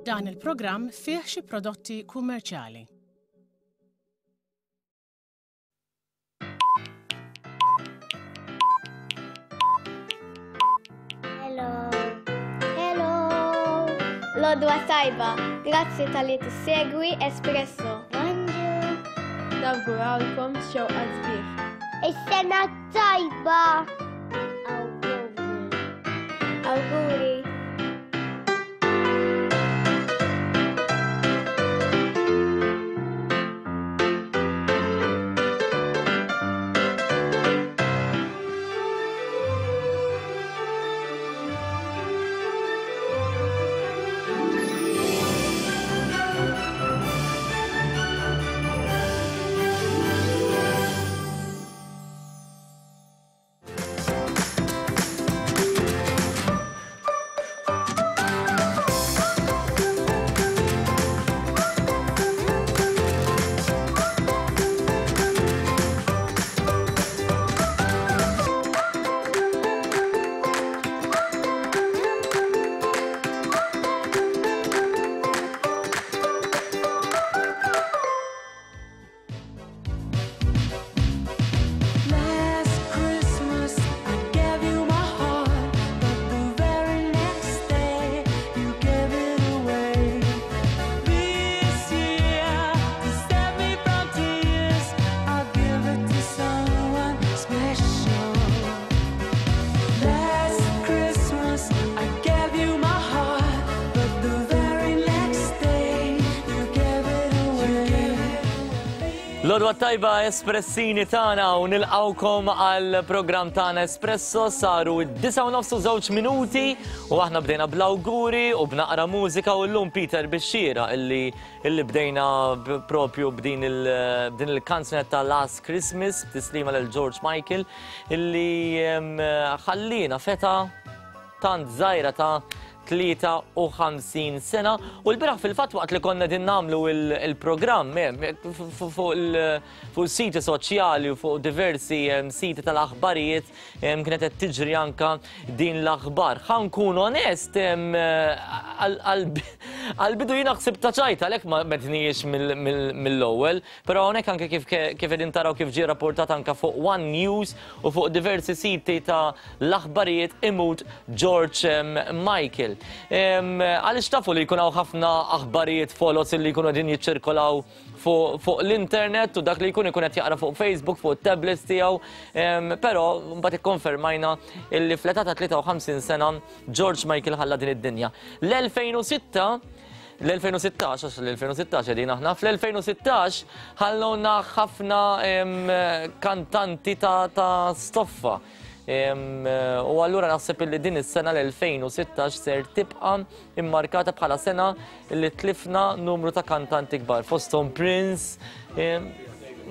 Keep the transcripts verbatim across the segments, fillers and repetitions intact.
Dan il-programm fih xi prodotti kummerċjali. Hello. Hello. L-għodwa t-tajba, grazzi talli tissegwi Espresso. Bonġu. Nawgurawlkom xewqat sbieħ. Is-sena tajba. Awguri. Awguri. Last Christmas I gave you my heart, but the very next day you gave it away. This year, to save me from tears, I'll give it to someone special. Last Christmas I gave you my heart, but the very next day you gave it away. L-għodwa t-tajba, espressini tagħna, u nilqgħukom għal programm tagħna Espresso. Saru id-disgħa u nofs u żewġ minuti u aħna bdejna bl-awguri u b'naqra mużika. U llum, Peter, bixxira illi illi bdejna b- propju b'din il- b'din il-kanzunetta Last Christmas, tislima lil George Michael illi em, ħallina f'età tant żgħira ta' tlieta u ħamsin sena. U l-bieraħ fil-fatt, waqt li konna din nagħmlu il-programm fuq il-siti soċjali u fuq diversi em, siti tal-aħbarijiet em, kienet qed tiġri anka din l-aħbar. Ħa nkun onest, em, għal- għal- għal-bidu jiena ħsibt ta' ċajta, għalhekk ma mednijiex mill-ewwel, però hawnhekk anke kif kif qegħdin taraw, kif ġie rapportat anka fuq One News u fuq diversi siti ta' l-aħbarijiet, imut George em, Michael. Em, Għaliex tafu li jkun hawn ħafna aħbarijiet foloz li jkunu qegħdin jiċċirkolaw fuq fuq l-internet u dak li jkun ikun qed jaqra fuq Facebook, fuq tablets tiegħu, em, però mbagħad ikkonfermajna illi fl-età ta' tlieta u ħamsin sena George Michael ħalla din id-dinja. L-elfejn u sitta, l-elfejn u sittax, għax l-elfejn u sittax qegħdin aħna, fl-elfejn u sittax ħalluna ħafna em, kantanti ta', ta stoffa. Em, U allura naħseb li din is-sena l-elfejn u sittax ser tibqa' immarkata bħala sena li tlifna numru ta' kantanti kbar. Fosthom Prince, em,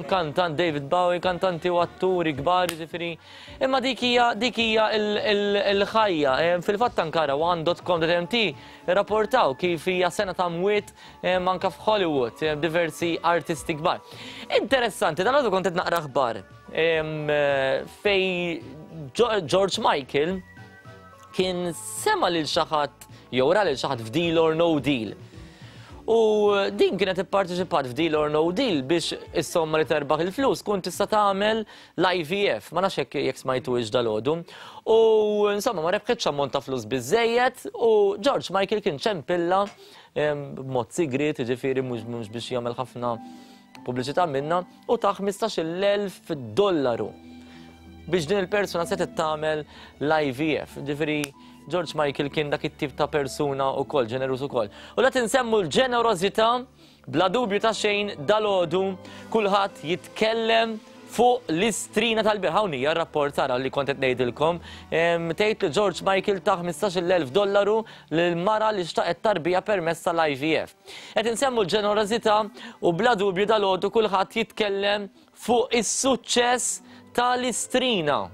kantant David Bowie, kantanti u atturi kbar, ġifieri. Imma dik hija dik hija il-ħajja. Em, Fil-fatt ankara one dot com dot M T rapportaw kif hija sena ta' mwiet em, anka f'Hollywood, em, diversi artisti kbar. Interessanti, dan għadu kont qed naqra aħbar em, eh, fej Jo- George Michael kien sema lil xi ħadd jew ra lil xi ħadd f'Deal or No Deal. U din kienet ipparteċipat f'Deal or No Deal biex is-somma li terbaħ il-flus kun tista' tagħmel l-I V F. Ma nafx jekk jekk smajtu ix dalgħodu. U insomma ma rebħitx ammont ta' flus biżejjed u George Michael kien ċempilla em, b'mod sigriet, ġifieri mhux mhux biex jagħmel ħafna pubbliċità minna, u ta' ħmistax-il elf dollaru biex din il-persuna se tagħmel l-I V F. Ġifieri George Michael kien dak it-tip ta' persuna ukoll, ġeneruż ukoll. U la tinsemmu l-ġenerożità, bla dubju ta' xejn dalgħodu kulħadd jitkellem fuq l-Istrina tal-bieraħ. Hawn hija r-rapport tara li kont qed ngħidilkom. Em, Tgħid li George Michael ta' ħmistax-il elf dollaru lil mara li xtaqet tarbija permezz tal-I V F. Qed insemmu l-ġenerożità u bla dubju dalgħodu kulħadd jitkellem fuq is-suċċess tal-Istrina.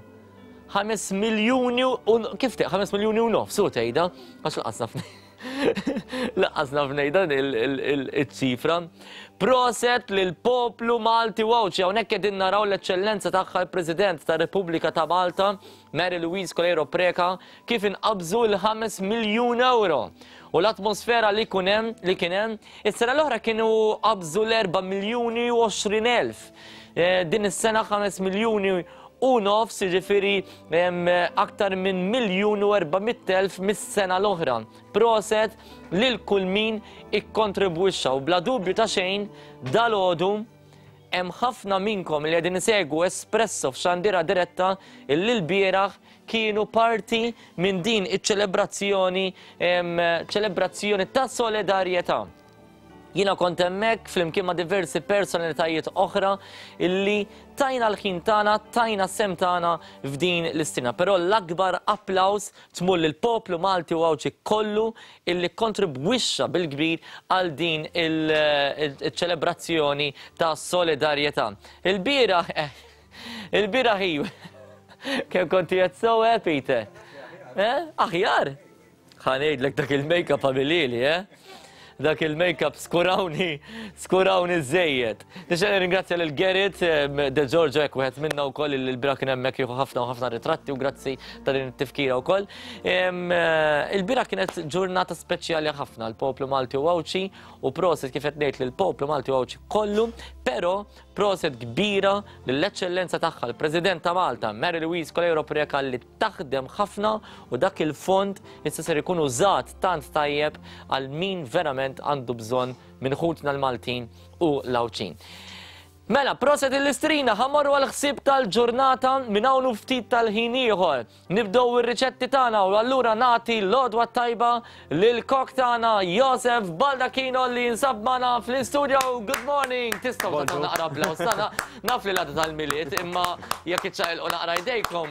ħames miljuni u kif te, ħames miljuni u nofs, u tgħidha, għax lanqas naf. Lanqas naf ngħidha il-ċifra. Proset lill-poplu Malti u Għawdxi. Hawnhekk qegħdin naraw l-eċċellenza tagħha l-President tar-Repubblika ta' Malta, Mary Louise Coleiro Preca, kif inqabżu l-ħames miljun euro. U l-atmosfera li kun hemm, li kien hemm, is-sena l-oħra kienu qabżu l-erba' miljuni u għoxrin elf. Din is-sena ħames miljuni u nofs, jiġifieri aktar minn miljun u erba' mitt elf mis-sena l-oħra. Proset lil kull min ikkontribwixxa u bla dubju ta' xejn dalgħodu hemm ħafna minnkom li qegħdin isegwu Espresso f'xandira diretta illi l-bieraħ kienu parti minn din iċ-ċelebrazzjoni, ċelebrazzjoni ta' solidarjetà. Jiena kont hemmhekk flimkien ma' diversi personalitajiet oħra illi tajna l-ħin tagħna, tajna s-sem tagħna f'din l-istina. Però l-akbar applaws tmur lill-poplu Malti u Għawdxi kollu illi kontribwixxa bil-kbir għal din il-ċelebrazzjoni ta' solidarjetà. Il-bieraħ, il-bieraħ iwa. Kemm konti qed sew, eh, Peter? Eh? Aħjar? Ħa ngħidlek dak il-make-up għamilili, eh? Dak il-make-up skurawni, skurawni żejjed. Nixtieq nirringrazzja lil Gerrit De Giorgio, hekk wieħed minna wkoll li l-bieraħ kien hemmhekk jieħu ħafna u ħafna ritratti u grazzi ta' din it-tifkira wkoll. Il-bieraħ kienet ġurnata speċjali ħafna l-poplu Malti u Għawdxi u proset kif qed ngħid lill-poplu Malti u Għawdxi kollu, però proset kbira lill-eċċellenza tagħha l-President ta' Malta, Mary Louise Coleiro Preca, li taħdem ħafna u dak il-fond issa ser ikun użat tant tajjeb għal min verament għandu bżonn minn ħutna l-Maltin u l-Għawdxin. Mela, proset il-Istrina, ħamorru għal-ħsieb tal-ġurnata minn hawn u ftit tal-ħin ieħor. Nibdew ir-riċetti tagħna u allura nagħti l-għodwa tajba lil kok tagħna Josef Baldacchino li jinsab magħna fl-istudio. Good morning! Tistgħu tagħtu naqra applaws tagħna. Naf li l-għada tal-Milied, imma jekk iċċaqilqu naqra jdejkom,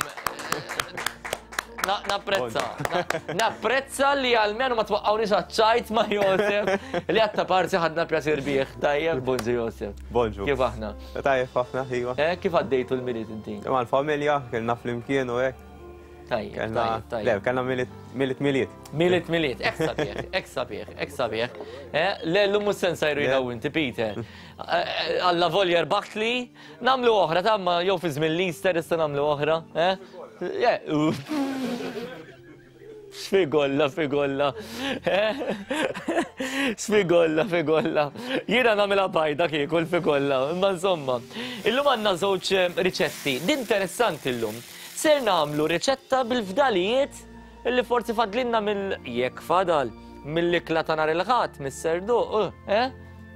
napprezza. Napprezza li għalmenu ma twaqqawniex għaċ-ċajt ma' Josef li għatta parti ħadna pjaċir bih. Tajjeb, bonġu Josef. Bonġu. Kif aħna? Tajjeb ħafna, iva. Eh, kif għaddejtu l-Milied inti? Mal-familja, kellna flimkien u hekk. Tajjeb, Kellna tajjeb, tajjeb. Le, kellna Milied, Milied, Milied. Milied, Milied, hekk sabiħ, hekk sabiħ, hekk sabiħ. Eh, le, l-lum mhux se nsajru jiena u inti, Peter. Eh, Alla volja rbaħtli, nagħmlu oħra, tamma jew fi żmien l-Easter issa nagħmlu oħra, eh? Sfigolla, figolla. Sfigolla, figolla. Jiena nagħmilha bajda kieku l-figolla, imma insomma. Illum għandna żewġ riċetti. Din interessanti llum. Ser nagħmlu riċetta bil-fdalijiet illi forsi fadlinna mill jekk fadal mill-ikla ta' nhar il-Ħadd, mis-serduq, eh?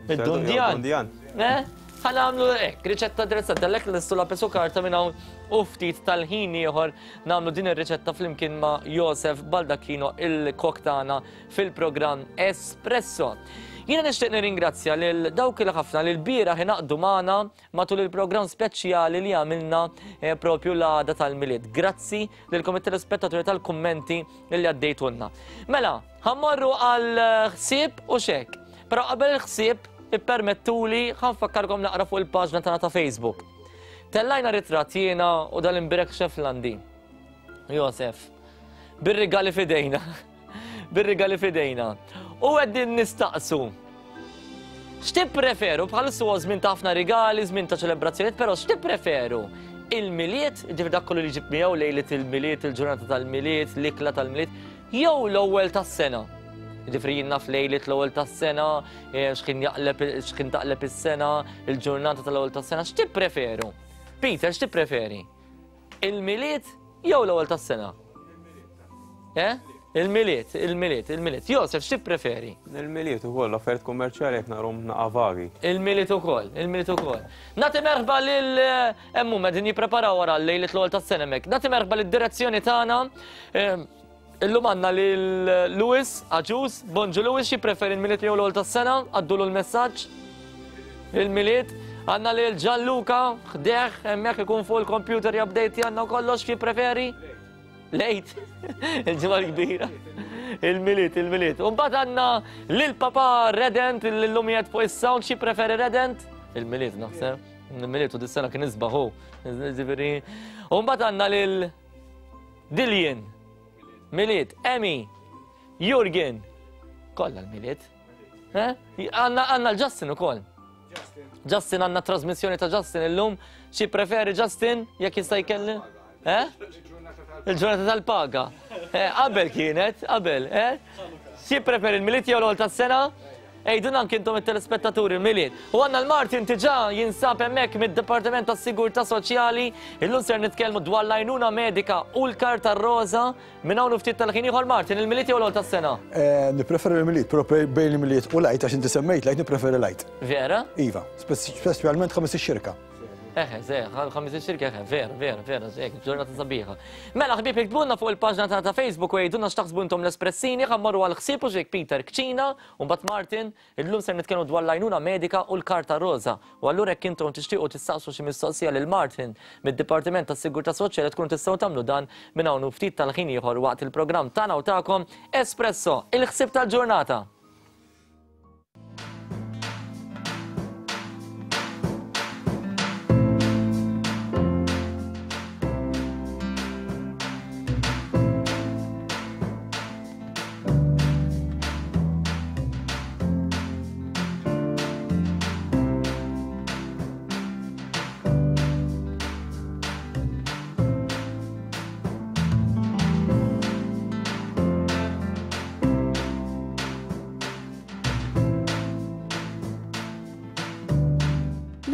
Mid-dundjan. Dundjan. Eh? Ħa nagħmlu hekk, riċetta interessanti, għalhekk lestu lapis u karta minn hawn u ftit tal-ħin ieħor nagħmlu din ir-riċetta flimkien ma' Josef Baldacchino, il-kok tagħna fil-programm Espresso. Jiena nixtieq nirringrazzja lil dawk il ħafna li l-bieraħ ingħaqdu magħna matul il-programm speċjali li għamilna, eh, propju l-għada tal-Milied. Grazzi lilkom it-telespettaturi tal-kummenti li għaddejtulna. Mela, ħammorru għal ħsieb u xek. Però qabel il-ħsieb ippermettuli ħanfakkarkom naqra fuq il-paġna tagħna ta' Facebook. Tellajna ritratt jiena u dal-imbirek Xeflandi. Josef, bir-rigali fidejna. Bir-rigali fidejna. U qegħdin nistaqsu. X'tippreferu? Bħalissa huwa żmien ta' ħafna rigali, żmien ta' ċelebrazzjonijiet, però x'tippreferu? Il-Milied, ġifieri dak kollu li ġib miegħu lejlet il-Milied, il-ġurnata tal-Milied, l-ikla tal-Milied, jew l-ewwel tas-sena. Ġifieri jien naf lejlet l-ewwel tas-sena, eh, x'ħin jaqleb, x'ħin taqleb is-sena, il-ġurnata tal-ewwel tas-sena, x'tippreferu? Peter, x'tippreferi? Il-Milied jew l-ewwel tas-sena? Eh? Il-Milied, il-Milied, il-Milied. Josef, x'tippreferi? Il-Milied ukoll, affarijiet kummerċjali qed narhom naqa' vagi. Il-Milied ukoll, il-Milied ukoll. Nagħti merħba lil, eh, hemm huma qegħdin jippreparaw wara lejlet l-ewwel tas-sena hemmhekk. Nagħti merħba lid-direzzjoni tagħna. Ehm, illum għandna lil Lewis Aġus. Bonġu Lewis, xi preferi l-Milied jew l-ewwel tas-sena? Għaddulu l-messaġġ. Il-Milied. Għandna lil Gianluca, ħdeħ, hemmhekk ikun fuq il-computer jabdejti għandna kollox, xi preferi? Lejt, il-ġimgħa l-kbira. Il-Milied, il-Milied. U mbagħad għandna lil papa Redent, l-lum qiegħed fuq is-sound, xi preferi Redent? Il-Milied naħseb. Il-Milied u dis-sena kien isbaħ hu. Ġifieri. U mbagħad għandna lil Dillian, Milied, Emi, Jurgen, Kollha l-Milied. Eh? Għandna l-Justin ukoll. Justin għandna trasmissjoni ta' Justin illum. Xi preferi Justin jekk jista' jkelli? Eh? Il-ġurnata tal-paga. Qabel kienet, qabel, eh? Xi preferi l-Milied jew l-ewwel tas-sena? Ejduna anke intom it-telespettaturi l-Milied. U għandna l-Martin diġà jinsab hemmhekk mid-Dipartiment tas-Sigurtà Soċjali. Illum ser nitkellmu dwar l-għajnuna medika u l-karta roża. Minn hawn ftit tal-ħin ieħor Martin, il-Milied jew l-ewwel tas-sena? Nippreferi l-Milied, però bejn il-Milied u l-Għid għax inti semmejt l-Għid nippreferi l-Għid. Vera? Iva, speċjalment ħames ix-xirka. Eħe, ze, ħames ix-xirka, eħe, vera, vera, vera, zek, ġurnata sabiħa. Mela ħbieb iktbulna fuq il-paġna tagħna ta' Facebook u jgħidulna x'taħsbu intom l-espressini, ħa mmorru għal ħsieb u xejk Peter Kċina, u mbagħad Martin, illum ser nitkellmu dwar l-għajnuna medika u l-karta roża. U allura jekk intom tixtiequ tistaqsu xi mistoqsija lil Martin mid-Dipartiment tas-Sigurtà Soċjali tkunu tistgħu tagħmlu dan minn hawn ftit tal-ħin ieħor waqt il-programm tagħna u tagħkom Espresso, il-ħsieb tal-ġurnata.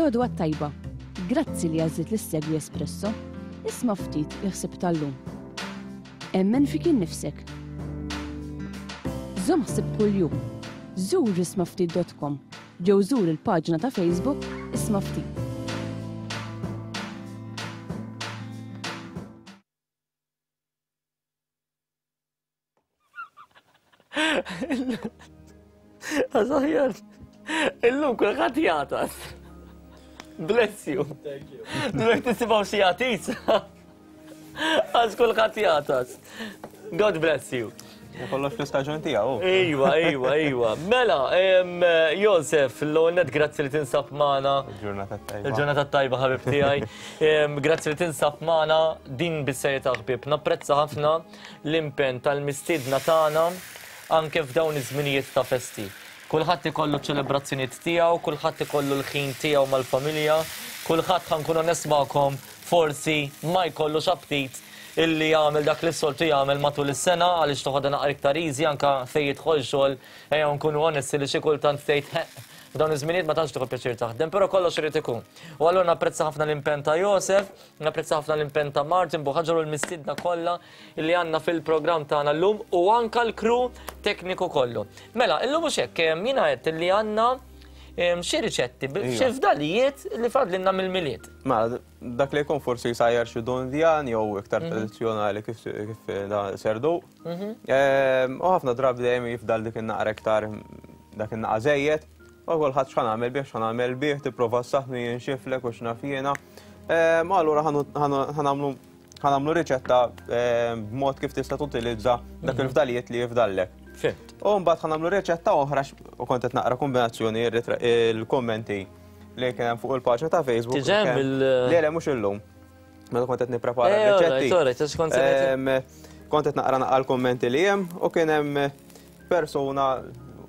L-għodwa t-tajba. Grazzi li għażilt li ssegwi Espresso. Isma' ftit il-ħsieb tal-lum. Emmen fik innifsek. Żomm ħsieb kuljum. Żur isma' ftit dot com jew żur il-paġna ta' Facebook Isma' Ftit. Għazaħjar, illum kulħadd jagħtas. Bless you. Thank you. Dwek tisibaw xi jagħtis. Għax kulħadd jagħtas. God bless you. Kollox fl-istaġun tiegħu. Ejwa, ejwa, ejwa. Mela, Josef, l-ewwel nett grazzi li tinsab magħna. Il-ġurnata tajba. Il-ġurnata tajba ħabib tiegħi. Grazzi li tinsab magħna din bis-serjetà ħbieb. Napprezza ħafna l-impenn tal-mistiedna tagħna anke f'dawn iż-żminijiet ta' festi. Kulħadd ikollu ċelebrazzjonijiet tiegħu, kulħadd ikollu l-ħin tiegħu mal-familja, kulħadd ħa nkun onest magħkom forsi ma jkollux aptit illi jagħmel dak li s-soltu jagħmel matul is-sena għaliex toħodha naqra iktar easy anke fejn jidħol xogħol, ejja nkunu onesti li xi kultant tgħid f'dawn iż-żminijiet ma tantx tieħu pjaċir taħdem, però kollox irid ikun. U allura napprezza ħafna l-impenn ta' Josef, napprezza ħafna l-impenn ta' Martin Buhagiar u l-mistiedna kollha li għandna fil-programm tagħna llum u anke l-crew tekniku kollu. Mela, illum mhux hekk, jiena għedt li għandna xi riċetti, xi fdalijiet li fadlilna mill-Milied. Mela, dak li jkun forsi jsajjar xi dondjan jew iktar tradizzjonali kif serdu. U ħafna drabi dejjem jifdal dik in-naqra iktar dak in-naqa żejjed. U kulħadd x'ħa nagħmel bih, x'ħa nagħmel bih, tipprova ssaħħnu jinxiflek u x'naf jiena. Ma allura ħa nagħmlu riċetta b'mod kif tista' tutilizza dak il-fdalijiet li jifdallek. Fimt. U mbagħad ħa nagħmlu riċetta oħra u kont qed naqra kombinazzjoni il-kommenti li kien hemm fuq il-paġna ta' Facebook. Diġà hemm il- Le, le, mhux illum. Meta kont qed nipprepara r-riċetti. Kont qed naqra naqra l-kommenti li hemm u kien hemm persuna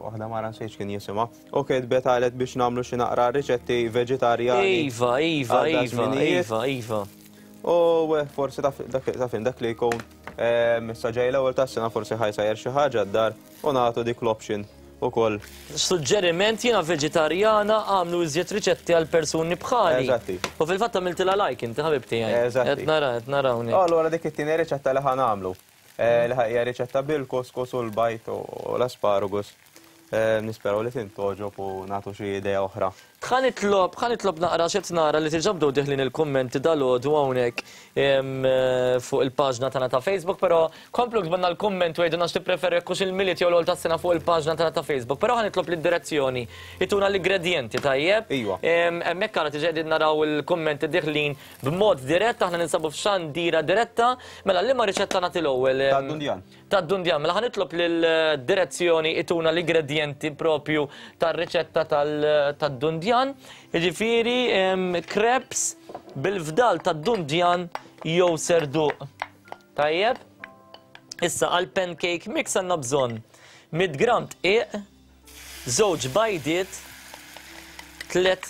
waħda mara nsejx kien jisimha u kitbet qalet biex nagħmlu xi naqra riċetti veġitarjani. Iva, iva, iva, iva, iva. U forsi taf dak li jkun issa ġej l-ewwel tas-sena forsi ħajsajjer xi ħaġa d-dar u nagħtu dik l-option ukoll. Suġġeriment jiena veġitarjana għamlu iżjed riċetti għal persuni bħali. Eżatti. U fil-fatt għamiltilha like inti ħabib tiegħi. Eżatti. Qed nara, qed nara hawnhekk. Allura dik it-tieni riċetta li ħa nagħmlu. Li hija riċetta bil-couscous u l-bajt u l-asparagus. Nisperaw li tintoġob u nagħtu xi idea oħra. Ħa nitlob, ħa nitlob naqra x'qed nara li diġà bdew diħlin il-kummenti dalgħodu hawnhekk fuq il-paġna tagħna ta' Facebook, però komplu ktbulna l-kumment u għidulna x'tippreferu jekk hux il-Milied jew l-ewwel tas-sena fuq il-paġna tagħna ta' Facebook. Però ħa nitlob lid-direzzjoni ituna l-ingredjenti tajjeb. Iva. Hemmhekk għandna diġà qegħdin naraw il-kummenti diħlin b'mod dirett, aħna ninsabu f'xandira diretta. Mela liema riċetta nagħti l-ewwel? Tad-dundjan. Tad-dundjan. Mela ħa nitlob lill-direzzjoni ituna l-ingredjenti propju tar-riċetta tad-dundjan. Jiġifieri crepes bil-fdal tad-dundjan jew serduq. Tajjeb? Issa għal pancake mix għandna bżonn mitt gramm dqiq, żewġ bajdiet, tliet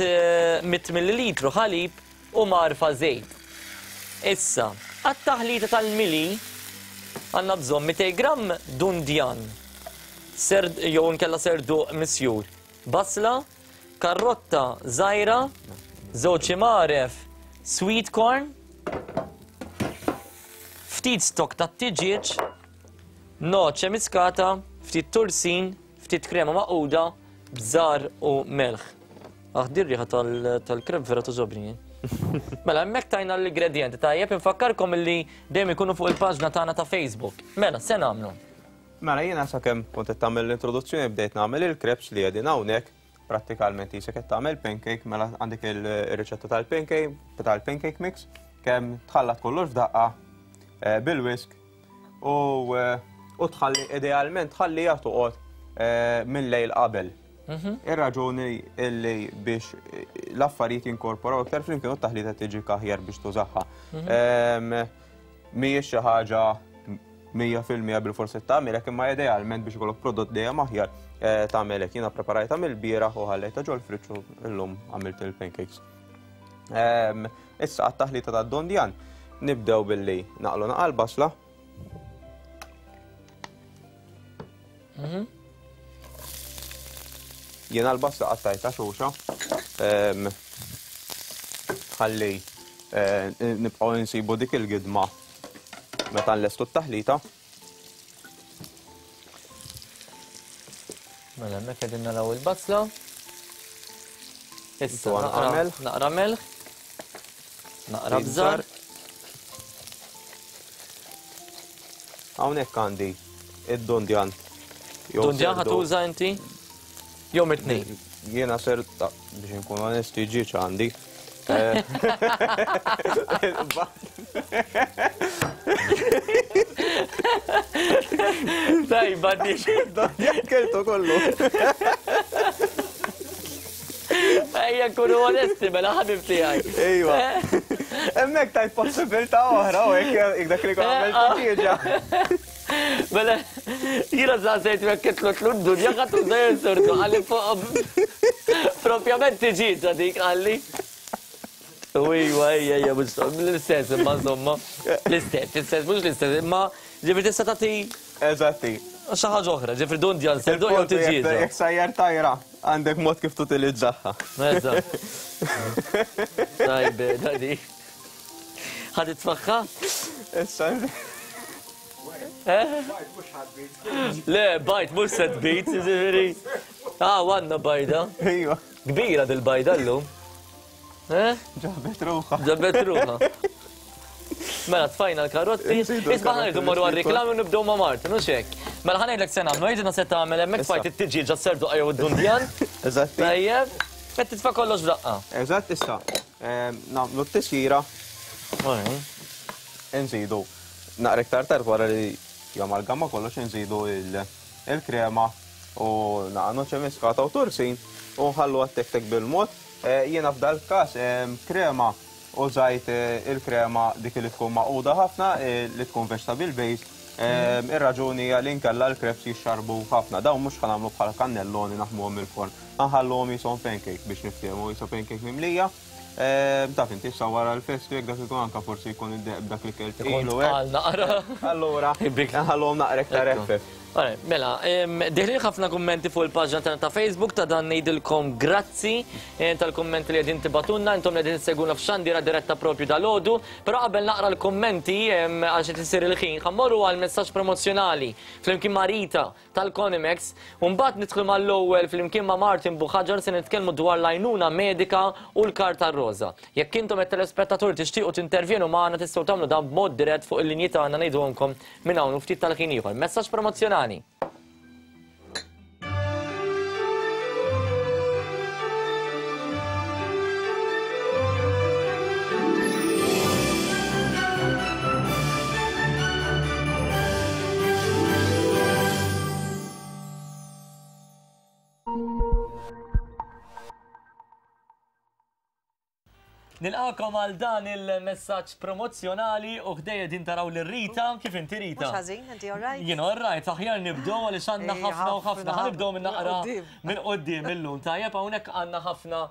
mitt millilitru ħalib u marfa żejt. Issa, għat-taħlita tal-mili għandna bżonn mitejn gramm dundjan, serd jew nkella serduq misjur, basla, karrotta żgħira, żewġ imgħaref sweet corn, ftit stok tat-tiġieġ, noċe miskata, ftit tursin, ftit krema maquda, bżar u melħ. Aħ, dir riħa tal-krem vera toġobni. Mela, hemmhekk tajna l-ingredienti, tajjeb, infakkarkom illi dejjem ikunu fuq il-paġna tagħna ta' Facebook. Mela, se nagħmlu? Mela, jiena sakemm kont qed tagħmel l-introduzzjoni bdejt nagħmel il-crepes li qegħdin hawnhekk, prattikalment jisek qed tagħmel pancake, mela għandek il-riċetta tal-pancake, tal-pancake mix, kemm tħallat kollox f'daqqa bil-whisk u tħalli idealment tħalliha toqgħod minn lejl qabel. Ir-raġuni illi biex l-affarijiet jinkorporaw iktar flimkien u t-taħlita tiġi aħjar biex tużaha. Mhijiex xi ħaġa mija fil-mija bil-forsi tagħmilek, imma idealment biex ikollok prodott dejjem aħjar tagħmelek. Jiena preparajta mill-bieraħ u ħallejta ġol-friġġ u llum għamilt il-pancakes. Issa għat-taħlita tad-dondjan nibdew billi naqlu naqal basla. Jiena l-basla qattajta xuxa, ħalli nibqgħu nsibu dik il-gidma meta nlestu t-taħlita. Mela, hemmhekk qegħdin naraw il-basla. Issa naqra melħ, naqra bżar. Hawnhekk għandi id-dondjan. Dondjan ħatuża inti? Jew mit-tnejn? Jiena ser, biex nkun onesti, ġiex għandi. Tajba, dik. Dondjan keltu kollu. Ejja, nkunu onesti, mela ħabib tiegħi. Ejwa. Hemmhekk tajt possibilità oħra, u hekk dak li għamilt ġieġa. Mela, jiena saqsejt jekk kitlu tlu d-dunja ħadd uża jinsurtu, qalli fuq propjament tiġiġa dik qalli. Ejwa, ejja, ejja, mhux l-istess, imma insomma. L-istess, l-istess, mhux l-istess, imma ġifieri tista' tagħti. Eżatti. Xi ħaġa oħra, ġifieri dundjan serdu jew tiġiġa. Jekk sajjar tajra, għandek mod kif tutilizzaha. Eżatt. Tajbe, dadi. Ħad titfaħħa? Issa. Le, bajt, mhux se tbit, ġifieri. Ah, għandna bajda. Ejwa. Kbira dil-bajda llum. Ġabet ruħha. Ġabet ruħha. Mela, tfajna l-karotti. Isma' ħa ngħidu mmorru għar-riklami u nibdew ma' Martin, mhux hekk. Mela ħa ngħidlek se nagħmlu, għidilna se tagħmel hemmhekk tfajt it-tiġieġa s-serduqa jew id-dundjan. Eżatt. Tajjeb, qed titfa' kollox f'daqqa. Eżatt, issa. Nagħmlu t-tisjira. Nżidu. Naqra iktar tard wara li jamalgama kollox nżidu il-krema u naqa' noċe miskata u tursin u nħallu għat-tek-tek bil-mod. Jiena f'dal każ krema użajt il-krema dik li tkun maquda ħafna, li tkun vegetable based. Ir-raġuni hija li nkella l-crepes jixxarbu ħafna. Dawn mhux ħanagħmlu bħal kannelloni naħmuhom il-forn. Nħalluhom jisom pancake biex niftehmu, jisom pancake mimlija. Taf inti issa wara l-festi jekk dak ikun anka forsi jkun id-deq b'dak li kelt ilu hekk. Naqra. Allura, nħalluhom naqra iktar eħfef. Mela, diħlin ħafna kummenti fuq il-paġna tagħna ta' Facebook ta' dan ngħidilkom grazzi tal-kummenti li qegħdin tibatunna, intom li qegħdin issegwuna f'xandira diretta propju dal-għodu, però qabel naqra l-kummenti għax qed isir il-ħin, ħammorru għal messaġġ promozzjonali flimkien ma' Rita tal-Conimex u mbagħad nidħlu mal-ewwel flimkien ma' Martin Buhagiar se nitkellmu dwar l-għajnuna medika u l-karta roża. Jekk intom qed telespettatur tixtiequ tintervjenu magħna tistgħu tagħmlu dan b'mod dirett fuq il-linji tagħna ngħidulkom minn hawn u ftit tal-ħin ieħor. Messaġġ promozzjonali. Nilqakom għal dan il-messaġġ promozzjonali u ħdejja din taraw lil Rita, kif inti Rita? Mhux ħażin, inti all right? Jien all right, aħjar nibdew għaliex għandna Ej, ħafna u ħafna. ħafna. Ħa nibdew minn naqra Quddiem. minn quddiem illum. Tajjeb, hawnhekk għandna ħafna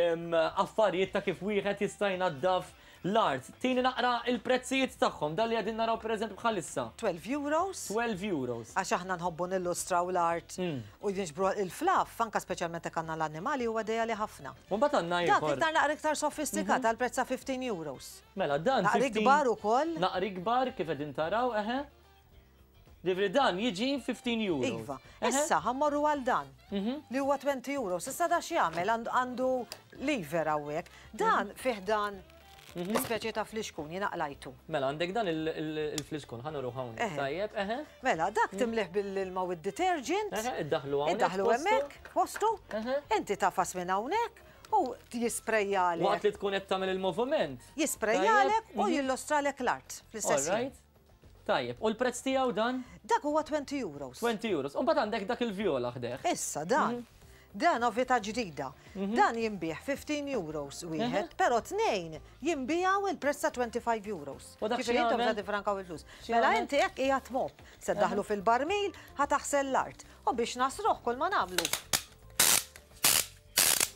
em, affarijiet ta' kif wieħed jista' jnaddaf l-art. Tini naqra il-prezzijiet tagħhom, dan li qegħdin naraw pereżempju bħalissa. twelve euros. twelve euros. Għax aħna nħobbu nillustraw l-art Mm. u jinġbru il-fluff, anka speċjalment jekk għandna l-annimali, huwa dejali ħafna. U mbagħad għandna Dak ieħor. iktar naqra iktar sofistikat għal prezz ta' fifteen euros. Mela dan Naqra fifteen ikbar ukoll. Naqra ikbar kif qegħdin taraw, eħe. Ġifieri dan jiġi fifteen euros. Iva. Eħe. Issa ħa mmorru għal dan Mhm. li huwa twenty euros. Issa da x'jagħmel għandu- għandu lever hawnhekk. Dan Mhm. fih dan speċi ta' flixkun jiena qlajtu. Mela għandek dan il- il- il-flixkun, ħa nuruh hawnhekk. Eħe. Tajjeb, eħe. Mela dak timlih bil-ilma u d-detergent. Eħe, iddaħlu hawnhekk Iddaħlu postu. hemmhekk postu. Eħe. Inti tafas minn hawnhekk u jisprejjalek. Waqt li tkun qed tagħmel il-moviment. Jisprejjalek Tajjeb, u mhm. jillustralek l-art fl-istess All ħin. right. Tajjeb, u l-prezz tiegħu dan? Dak huwa twenty euros. twenty euros. U mbagħad għandek dak il-vjola ħdejh. Issa dan. Mhm. Dan novità ġdida. Dan jinbiegħ fifteen euros wieħed, però tnejn jinbiegħu il-prezz ta' twenty-five euros. U dak Ġifieri intom x'jagħmel? se tifrankaw il-flus. X'jagħmel? Mela inti hekk qiegħed mop, se ddaħlu fil-barmil, ħa taħsel l-art. U biex nasruh kull ma nagħmlu.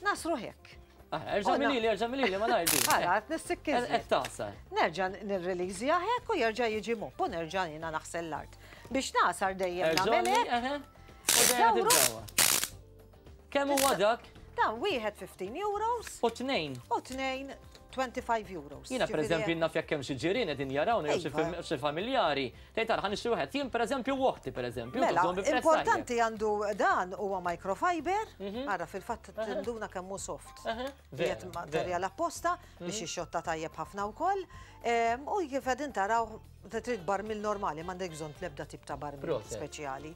Nasruh hekk. Ah, erġa' U na- milili, erġa' milili, ma ngħidu. Ara, qed nissikkiżli. Qed tagħsar. Nerġa' nirreleasja hekk u jerġa' jiġi mop u nerġa' jiena naħsel l-art. Biex nasar dejjem Erġa' nagħmel hekk. eħe. U dejjem Dawru. tiddawwa. Kemm huwa dak? Dan wieħed fifteen euros. U tnejn. U tnejn twenty-five euros. Jiena Ġifieri pereżempju naf jekk hemm xi ġirien qegħdin jarawna jew xi Iva. fam-, xi familjari. Tgħid tara ħa nixtri wieħed. Jien pereżempju oħti pereżempju, Mela, tużhom bi prezz importanti tajjeb. għandu dan huwa microfiber, Mhm. ara fil-fatt tinduna kemm hu soft. Aha, Qiegħed vera, materjal vera. apposta biex Mhm. ixxotta tajjeb ħafna wkoll. Em, U kif qegħdin taraw trid barmil normali, m'għandek bżonn tlebda tip ta' barmil Proset. speċjali.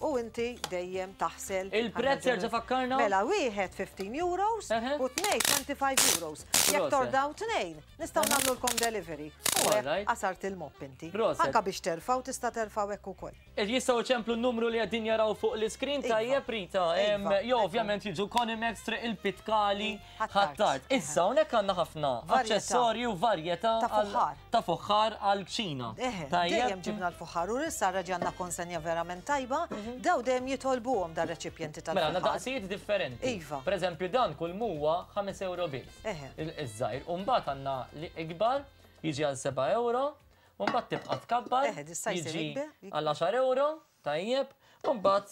U inti dejjem taħsel. Il-prezz jerġa' fakkarna? Mela wieħed fifteen euros u tnejn twenty-five euros. Jekk Proset. tordaw tnejn, nistgħu nagħmlulkom delivery. U hekk Alright. qasart il-mop inti. Proset. Anka biex terfgħu tista' terfgħu hekk ukoll. E jistgħu ċemplu n-numru li qegħdin jaraw fuq l-iskrin Iva. tajjeb Rita. Em, Iva. Jo, ovvjament jiġu Conimex Triq il-Pitkali Ħ'Attard. Ħ'Attard. Issa hawnhekk għandna ħafna Varjetà. aċċessorji u varjetà Ta' għal- fuħħar. ta' fuħħar għall-kċina. Eħe, Tajjeb? dejjem ġibna l-fuħħar u issa reġgħalna konsenja verament tajba, daw dejjem jitolbuhom dar reċipjenti Mela, għandna tal-fuħħar. daqsijiet differenti. Iva. Per eżempju, dan kull muwa ħames euro biss. Eħe. Il- Iż-żgħir. U mbagħad għandna li ikbar jiġi għal seba' euro, u mbagħad tibqa' tkabbar, Eħe, di size jiġi ikber. għal għaxar euro, tajjeb, u mbagħad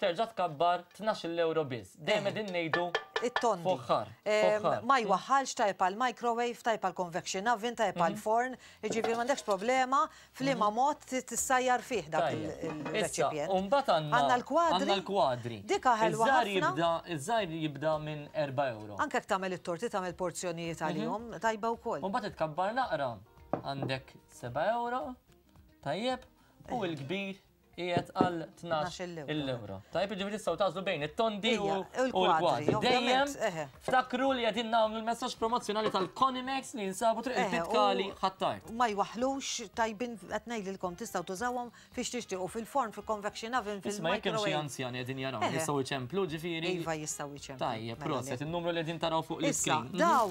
terġa' tkabbar tnax-il euro biss. Dejjem qegħdin ngħidu It-tondi. fuħħar, Em, fuħħar. Ma jwaħħalx tajb għal microwave, tajb għal convection oven, tajb għal Mhm. forn, jiġifieri m'għandekx problema f'liema mod tissajjar fih dak Tajjeb. il-reċipjent. Issa, u mbagħad għandna Għandna l-kwadri. Għandna l-kwadri. Dika ħelwa Iż-żgħar ħafna. jibda, iż-żgħir jibda minn erba' euro. Anke jekk tagħmel it-torti tagħmel porzjonijiet Mhm. għalihom, tajba wkoll. U mbagħad tkabbar naqra. Għandek seba' euro, tajjeb, u l-kbir qiegħed għal tnax il-euro. Tajjeb, jiġifieri tistgħu tagħżlu bejn it-tondi u Ija, u u l-kwadri, l-kwadri. ovvjament, Dejjem eħe. ftakru li qegħdin nagħmlu l-messaġġ promozzjonali tal-Conimex li jinsabu triq Eħe, il-Pitkali u- Ħ'Attard. Ma jwaħħlux tajbin qed ngħidilkom tistgħu tużawhom fiex tixtiequ fil-forn, fil-convection oven, Isma' jekk hemm xi fil-microwave. anzjani qegħdin jaraw, Eħe. jistgħu jċemplu ġifieri. Iva jistgħu jċemplu. Tajjeb, Mela proset, le. il-numru li qegħdin taraw fuq Issa, l-iskrin. daw,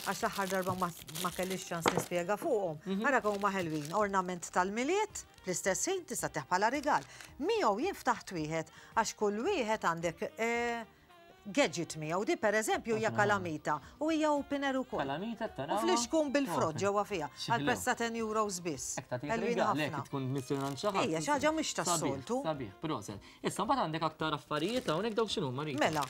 għax l-aħħar darba ma, ma kellix ċans nispjega fuqhom. Mhm. Ara kemm huma ħelwin, ornament tal-Milied, fl-istess ħin tista' teħ bħala rigal. Miegħu jien ftaħt wieħed għax kull wieħed għandek eh, gadget miegħu. Di pereżempju hija kalamita u hija opener ukoll. Kalamita taraw. U flixkun bil-frott ġewwa fiha Xi għal prezz ta' ten euros biss. Hekk tagħtik Ħelwin rigal, hekk ħafna. tkun missjoni għand xi ħadd. Ejja, xi ħaġa mhix tas-soltu. Sabiħ, proset. Issa mbagħad għandek aktar affarijiet hawnhekk dawk x'inhu Marika? Mela,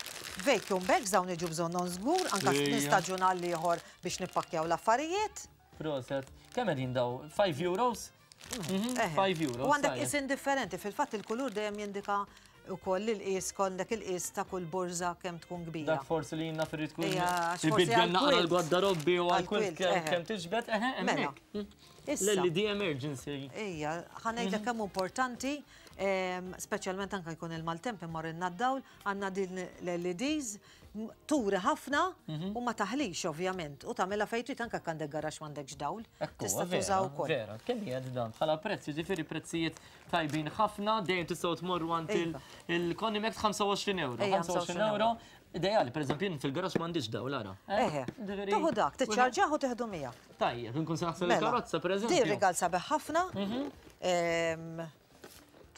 vacuum bags dawn iġu bżonnhom żgur, anke Ejja. minn staġun għal ieħor biex nippakkjaw l-affarijiet. Proset. Kemm qegħdin daw? five euros? Mhm, Eħe. five euros. U għandek tajjeb. isin differenti, fil-fatt il-kulur dejjem jindika ukoll il-qis, għandek il-qis ta' kull borża kemm tkun kbira. Dak forsi li jinna firri tkun Ejja, għax forsi ibiddel għal naqra quilt. l-gwardarobbi u għal Għal quilt quilt, kemm eħe. kemm tiġbed, eħe, Mela. hemmhekk. Issa. L-L E D emergency. Ejja, ħa ngħidlek Mhm. kemm importanti, em, speċjalment anke jkun il-maltemp immur d-dawl, għandna din l-L E Ds, m-, turi ħafna Mhm. u ma taħlix ovvjament. U tagħmilha fejn trid anke jekk għandek garax m'għandekx dawl. Ekku, Tista' vera, tuża wkoll. Vera, kemm qiegħed dan bħala prezz, jiġifieri prezzijiet tajbin ħafna, dejjem tistgħu tmorru għand il- Iva. il-Conimex ħamsa u għoxrin euro. Ejja, ħamsa u għoxrin ħamsa u għoxrin euro Ideali, per eżempju, fil-garax m'għandix dawl ara. Eħe, tuħu dak, tiċċarġaħ u teħdu miegħek. Tajjeb, nkun se naħsel il-karozza, per eżempju. Di rigal sabiħ ħafna.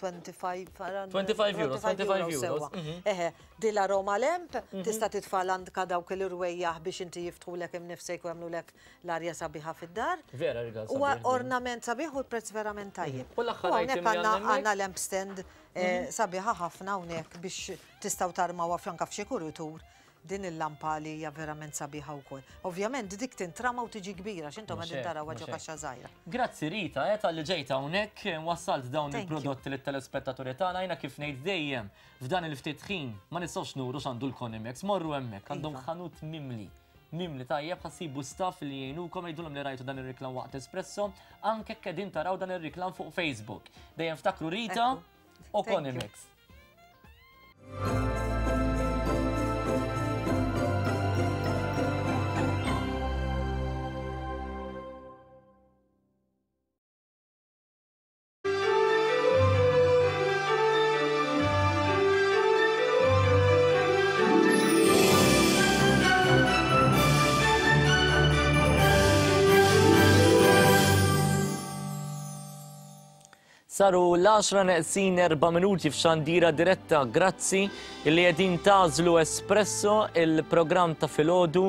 twenty-five euros, twenty-five euros. Eħe, di l-aroma lamp, tista' titfa' għandka dawk il-irwejjaħ biex inti jiftħulek imnifsejk u jagħmlulek l-arja sabiħa fid-dar. Vera rigal sabiħ. Huwa ornament sabiħ u l-prezz verament tajjeb. U l-aħħar item li għandna lamp stand sabiħa ħafna hawnhekk biex tistgħu tarmawha f'anke f'xi kuritur din il-lampa li hija verament sabiħa wkoll. Ovvjament dik tintrama u tiġi kbira x'intom qegħdin taraw ġo kaxxa żgħira. Grazzi Rita, eh, talli ġejt hawnhekk wassalt dawn il-prodotti lit-telespettaturi tagħna. Jiena kif ngħid dejjem f'dan il-ftit ħin ma nistgħux nuru x'għandu l-Conimex, morru hemmhekk, għandhom ħanut mimli. Mimli tajjeb, ħassibu staff li jgħinukom, jgħidulhom li rajtu dan ir-riklam waqt Espresso, anke qegħdin taraw dan ir-riklam fuq Facebook. Dejjem ftakru Rita u Conimex. Saru l-għaxra neqsin erba' minuti f'xandira diretta. Grazzi li qegħdin tażlu Espresso, il-programm ta' filgħodu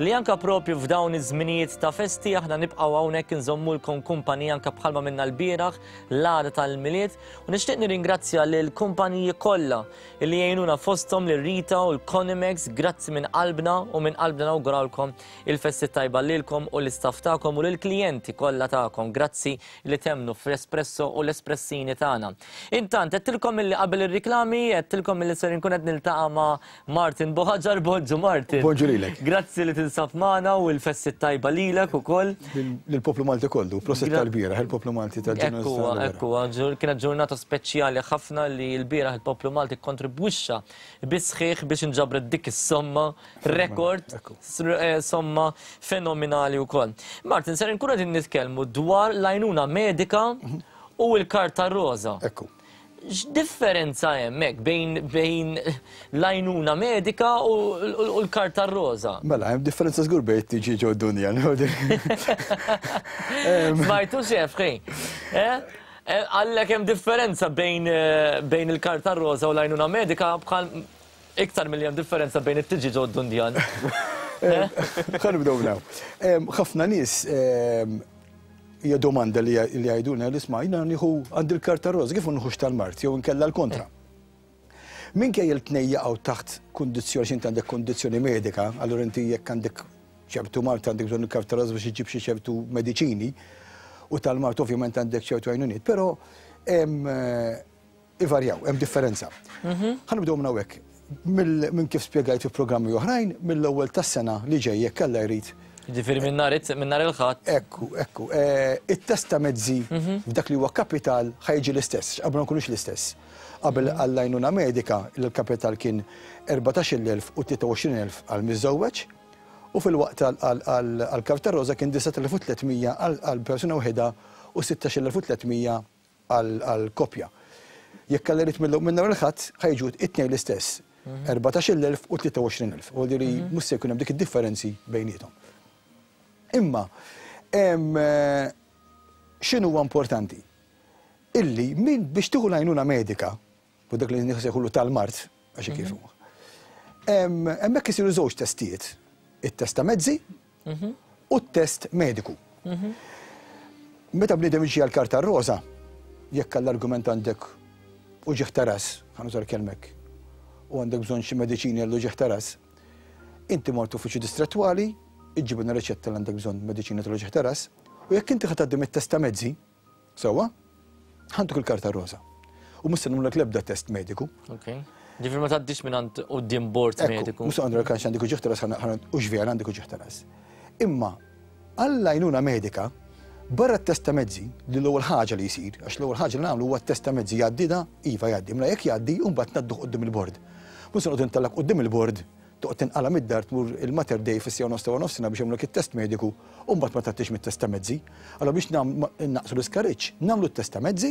li anka propju f'dawn iż-żminijiet ta' festi aħna nibqgħu hawnhekk inżommulkom kumpanija anka bħalma minna l-bieraħ l-għada tal-Milied. U nixtieq nirringrazzja lill kumpaniji kollha li jgħinuna fosthom lil Rita u l-Conimex. Grazzi minn qalbna u minn qalbna nawgurawlkom il-festi tajba lilkom u l-istaff tagħkom u lill-klijenti kollha tagħkom. Grazzi li temnu fl-Espresso u l-Espresso Pressini tagħna. Intant, għedtilkom illi qabel ir-riklami, għedtilkom illi ser inkun qed niltaqa' ma' Martin Buhagiar. Bonġu Martin. Bonġu lilek. Grazzi li tinsab magħna u l-festi tajba lilek ukoll. Lill-poplu Malti kollu, proset tal-bieraħ, il-poplu Malti tal-ġurnata. Ekku, ekku, kienet ġurnata speċjali ħafna li l-bieraħ il-poplu Malti kontribwixxa bisħiħ biex inġabret dik is-somma rekord, somma fenomenali wkoll. Martin, ser inkun qegħdin nitkellmu dwar l-għajnuna medika u l-karta roża. Ekku. X'differenza hemmhekk bejn bejn l-għajnuna medika u l-karta roża? Mela, hemm differenza żgur bejn tiġi ġo d-dunja. Smajtu xef, ħej. Għallek hemm differenza bejn bejn il-karta roża u l-għajnuna medika bħal iktar milli hemm differenza bejn it-tiġi ġo d-dundjan. Ħa nibdew naw. Ħafna nies hija domanda li jgħidulna li isma' jiena nieħu għandi l-karta roża, kif nħux tal-mart jew inkella l-kontra. Minkejja l-tnejn jaqgħu taħt kundizzjoni, x'inti għandek kundizzjoni medika, allura inti jekk għandek ċertu mart għandek bżonn il-karta roża biex iġġib xi ċertu mediċini, u tal-mart ovvjament għandek ċertu għajnuniet, però ivarjaw, hemm differenza. Ħa nibdew minn hawnhekk. Minn kif spjegajt fi programmi oħrajn, mill-ewwel tas-sena li ġej jekk Alla jrid. Ġifieri minn nhar il-Ħadd. Ekku, ekku. It-test ta' mezzi f'dak li huwa kapital ħa jiġi l-istess, qabel ma nkunux l-istess. Qabel għall-għajnuna medika il-kapital kien erbatax-il elf u tlieta u għoxrin elf għal miżżewweġ, u fil-waqt għall-karta roża kien disat elef u tliet mija għal persuna waħda u sittax-il elf u tliet mija għal koppja. Jekk Alla jrid minn nhar il-Ħadd ħa jiġu it-tnejn l-istess, erbatax-il elf u tlieta u għoxrin elf. U li mhux se jkun hemm dik id-differenzi bejniethom. Imma, x'inhu huwa importanti? Illi min biex tieħu l-għajnuna medika, u dak li nsejħulu tal-mart, għax kif huwa. Hemmhekk isiru żewġ testijiet, it-test ta' mezzi u t-test mediku. Meta bniedem jiġi għall-karta roża, jekk għall-argument għandek uġigħ ta' ras, ħa nuża l-kelmek, u għandek bżonn xi mediċini għall uġigħ ta' ras, inti mort uffiċċju distrettwali, iġġibna riċetta li għandek bżonn mediċina tal-uġigħ ta' ras, u jekk inti ħa tgħaddi mit-test ta' mezzi, sewwa, ħantuk il-karta roża. U mhux se nagħmlek l-ebda test mediku. Okej. Ġifieri ma tgħaddix minn għand quddiem bord mediku. Mhux għandek għax għandek uġigħ ta' ras, u x'vera għandek uġigħ ta' ras. Imma għall-għajnuna medika, barra t-test ta' mezzi, li l-ewwel ħaġa li jsir, għax l-ewwel ħaġa li nagħmlu huwa t-test ta' mezzi jgħaddi da, iva jgħaddi, mela jekk jgħaddi u mbagħad ngħadduh quddiem il-bord. Mhux se noqgħod intellak quddiem il-bord, toqgħod tinqala' mid-dar tmur il-Mater Dei fis-sija nofs ta' nofsinhar biex jagħmlek it-test mediku u mbagħad ma tgħaddix mit-test ta' mezzi. Allura biex naqsu l-iskariġġ, nagħmlu t-test ta' mezzi,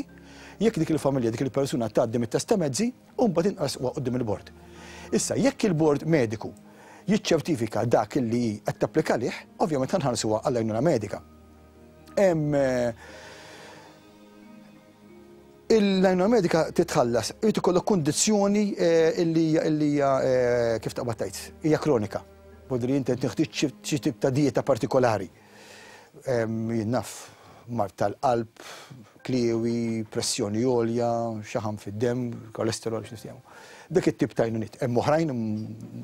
jekk dik il-familja, dik il-persuna tgħaddi mit-test ta' mezzi, u mbagħad inqas huwa quddiem il-bord. Issa, jekk il-bord mediku jiċċertifika dak li qed tapplika lih, ovvjament ħanħallsuha għall-għajnuna medika. Il-għajnuna medika titħallas, irid ikollok kundizzjoni illi hija kif taqbad tgħid, hija kronika. Bodri inti tinħtieġ xi tip ta' dieta partikolari. Jien naf, mard tal-qalb, kliewi, pressjoni għolja, xaħam fid-demm, kolesterol, x'nistgħu. Dak it-tip ta' għajnuniet. Hemm oħrajn,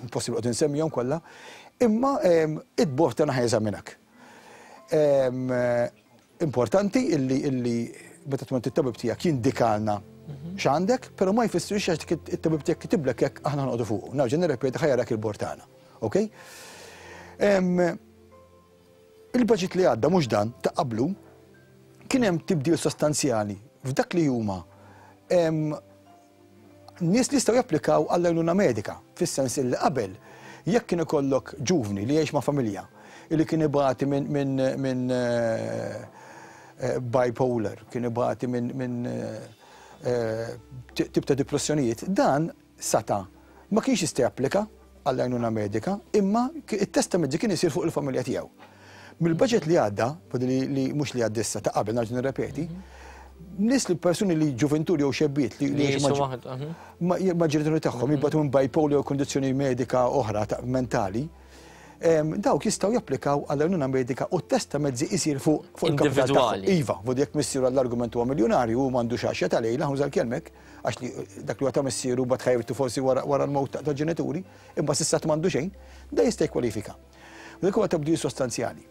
impossibbli qed insemmihom kollha, imma id-bord tagħna ħa jeżaminak. Importanti illi illi meta tmur it-tabib tiegħek jindikalna x'għandek, però ma jfissirx għax it-tabib tiegħek kitiblek hekk aħna noqogħdu fuqu. Nerġa' nirrepeti ħa jarak il-bord tagħna. Okej? Il-budget li għadda mhux dan ta' qablu kien hemm tibdil sostanzjali f'dak li huma nies li jistgħu japplikaw għall-għajnuna medika, fis-sens li qabel jekk kien ikollok ġuvni li jgħix ma' familja li kien ibati minn minn minn bipolar, kien ibati minn minn tip ta' depressjonijiet, dan sata ma kienx jista' japplika għall-għajnuna medika, imma it-test ta' mezzi kien isir fuq il-familja tiegħu. Mill-budget li għadda, li mhux li għadda issa ta' qabel nerġa' nirrepeti, nies li persuni li ġuventuri jew xebbiet li ma ġenituri tagħhom jibgħatu minn bipolar jew kondizzjoni medika oħra mentali, dawk jistgħu japplikaw għall-għajnuna medika u t-test ta' mezzi isir fuq il-kapital tagħhom. Iva, vodi jekk missieru għall-argument huwa miljonarju u m'għandux għaxja ta' lejla, ħuża l-kelmek, għax li dak li huwa ta' missieru bad ħajrtu forsi wara l-mewt ta' ġenituri, imma s'issa m'għandu xejn, da jista' jikkwalifika. Dak huwa tibdil sostanzjali.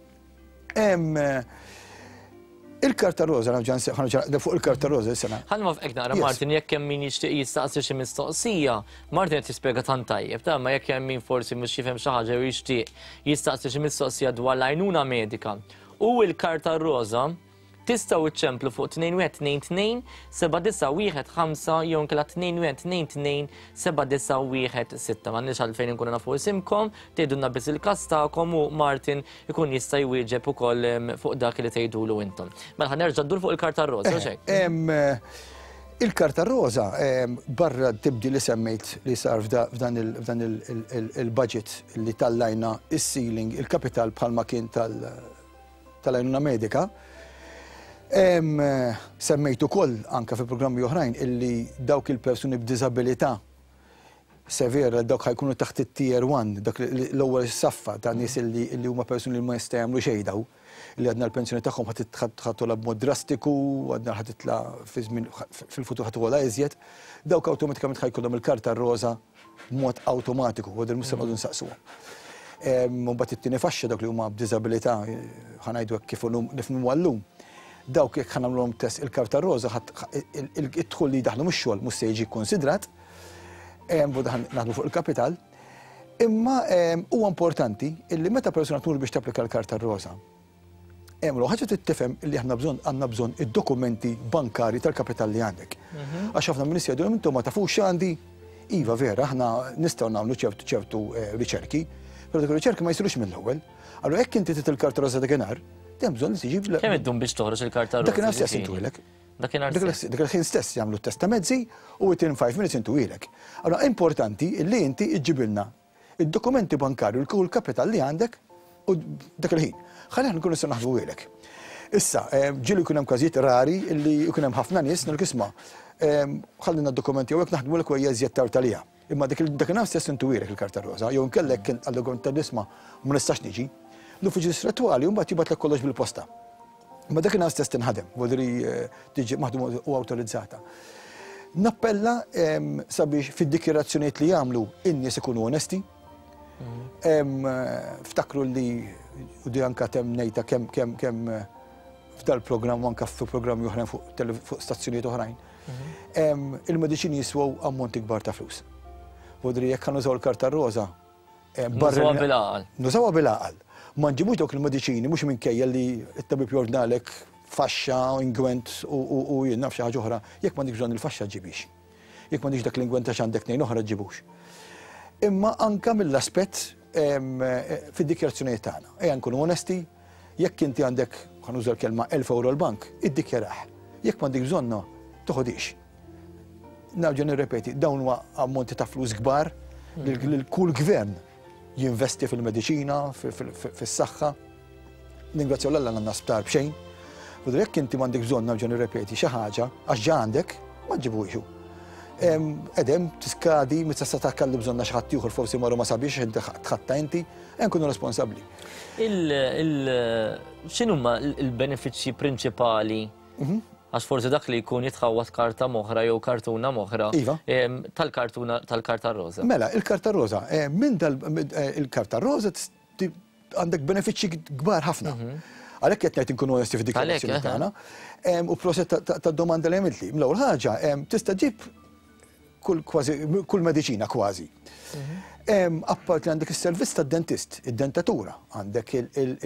Il-karta roża, fuq il-karta roża s-sena. Ħa nwaqqfek naqra, Martin, jekk hemm min jixtieq jistaqsi xi mistoqsija, Martin qed jispjega tant tajjeb, ta' ma jekk hemm min forsi mhux jifhem xi ħaġa jew jixtieq jistaqsi xi mistoqsija dwar l-għajnuna medika u l-karta roża, tistgħu iċċemplu fuq tnejn wieħed tnejn tnejn seba' disa' wieħed ħamsa jew inkella tnejn wieħed tnejn tnejn seba' disa' wieħed sitta. M'għandniex għalfejn inkunu nafu isimkom, tgħidulna biss il-każ tagħkom u Martin ikun jista' jwieġeb ukoll fuq dak li tgħidulu intom. Mela ħa nerġa' ndur fuq il-karta roża, u xejn. Il-karta roża barra tibdi li semmejt li sar f'dan il-budget li tallajna is-ceiling, il-kapital bħalma kien tal-għajnuna medika. Semmejt ukoll anke fi programmi oħrajn illi dawk il-persuni b'diżabilità severa, dawk ħajkunu taħt it-tier one, dak l-ewwel saffa ta' nies illi huma persuni li ma jistgħu jagħmlu xejn daw, li għadna l-pensjoni tagħhom ħattola b'mod drastiku, għadna ħatitla fil-futur ħattola iżjed, dawk awtomatikament ħajkollhom il-karta roża b'mod awtomatiku, u mhux se noqogħdu nsaqsuhom. Mbagħad it-tieni faxxa dawk li huma b'diżabilità, ħanajdu hekk kif nifhmu għallum. Dawk jekk ħanamluhom test il-karta roża, id-dħul li jdaħlu mix-xogħol mhux se jiġi kkonsidrat, naħdmu fuq il-kapital. Imma huwa importanti illi meta persuna tmur biex tapplika l-karta roża, hemm ħaġa trid tifhem illi aħna bżonn għandna bżonn id-dokumenti bankari tal-kapital li għandek. Għax ħafna minn nies jgħidu intom ma tafux x'għandi. Iva vera, aħna nistgħu nagħmlu ċertu ċertu riċerki, però dik ir-riċerki ma jsirux mill-ewwel. Allura jekk inti trid il-karta roża dakinhar, hemm bżonn li tiġi Kemm iddum biex toħroġ il-karta roża? Dakinhar stess intuilek. Dakinhar stess. Dak il-ħin stess jagħmlu t-test ta' mezzi u within five minutes intuilek. Allura importanti li inti iġġibilna id-dokumenti bankarju u l-kapital li għandek u dak il-ħin. Ħalli aħna nkunu nistgħu naħdmu ilek. Issa, ġieli jkun hemm każijiet rari li jkun hemm ħafna nies nil-kisma. Ħallina d-dokumenti jew hekk naħdmu lek u iżjed tard għalija. Imma dakinhar stess intuilek il-karta roża, jew nkellek għal-dokument tal-isma ma nistax niġi. L-uffiċċju distrettwali mbagħad jibgħatlek kollox bil-posta. Ma dakinhar stess tinħadem, vodri tiġi maħdum u awtorizzata. Nappella sabiex fid-dikjarazzjonijiet li jagħmlu in-nies ikunu onesti. Ftakru li u di anka temm ngħidha kemm kemm kemm f'dal-programm u anka f'programmi oħrajn fuq stazzjonijiet oħrajn. Il-mediċini jiswew ammonti kbar ta' flus. Vodri jekk ħa nużaw il-karta roża, Nużawha bil-għaqal. Nużawha bil-għaqal. Ma nġibux dawk il-mediċini mhux minkejja li t-tabib jordnalek faxxa, ingwent u jien naf xi ħaġa oħra, jekk m'għandekx bżonn il-faxxa ġibix. Jekk m'għandekx dak l-ingwent għax għandek tnejn oħra ġibux. Imma anka mill-aspett fid-dikjarazzjonijiet tagħna. Ejja nkunu onesti, jekk inti għandek, ħa nuża l-kelma elf euro l-bank, iddikjarah. Jekk m'għandek bżonna, toħodix. Nerġa' nirrepeti, dawn huwa ammonti ta' flus kbar Li kull gvern jinvesti fil-mediċina, fis-saħħa. Ningrazzjaw l-Alla għandna sptar b'xejn. U jekk inti m'għandek bżonn nerġa' nirrepeti xi ħaġa għax ġa għandek, ma ġibuhiex. Edem tiskadi meta sa takkallu bżonna xi ħadd ieħor forsi marru ma sabiex inti tħatta inti, nkunu responsabbli. X'inhuma l-benefiċċji prinċipali? Għax forsi dak li jkun jitħawwad karta moħra jew kartuna moħra tal-kartuna tal-karta roża. Mela, il-karta roża, minn il-karta roża għandek benefiċċji kbar ħafna. Għalhekk qed ngħid inkunu onesti fid-dikjarazzjoni tagħna. U proset tad-domanda li għamiltli. L-ewwel ħaġa, tista' ġib kull kważi kull mediċina kważi. Appart li għandek is-servizz tad-dentist, id-dentatura, għandek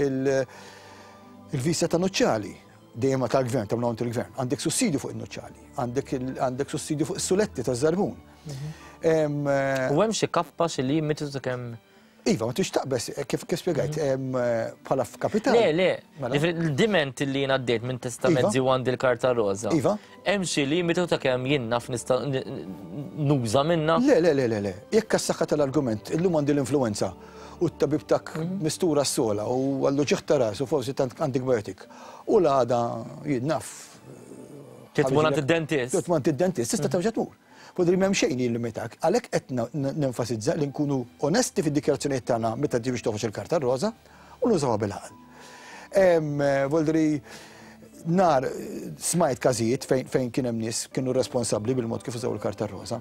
il-visa ta' nuċċali, dejjem tal-gvern, ta' minn il-gvern, għandek sussidju fuq in-nuċċali, għandek sussidju fuq is-suletti taż-żarbun. U hemm xi kappa xi limitu ta' kemm. Iva, ma tix taqbes, kif spjegajt, bħala f'kapital. Le, le, diment li jien għaddejt minn testament u għandi l-karta roża. Iva. Hemm xi limitu ta' kemm jien naf nista' nuża minna? Le, le, le, le, le. Jekk għas-saħħa tal-argument, illum għandi l-influenza u t-tabib tak mistura s-sola u għallu ġieħ ta' ras u forsi tant għandek biotik. U l-għada jien naf. Titmur għand id-dentist. Titmur għand id-dentist, tista' terġa' tmur. Podri m'hemm xejn jillimitak. Għalhekk qed nenfasizza li nkunu onesti fid-dikjarazzjonijiet tagħna meta tiġi biex toħroġ il-karta roża u nużawha bil-għaqal. Voldri nar smajt każijiet fejn kien hemm nies kienu responsabbli bil-mod kif użaw il-karta roża.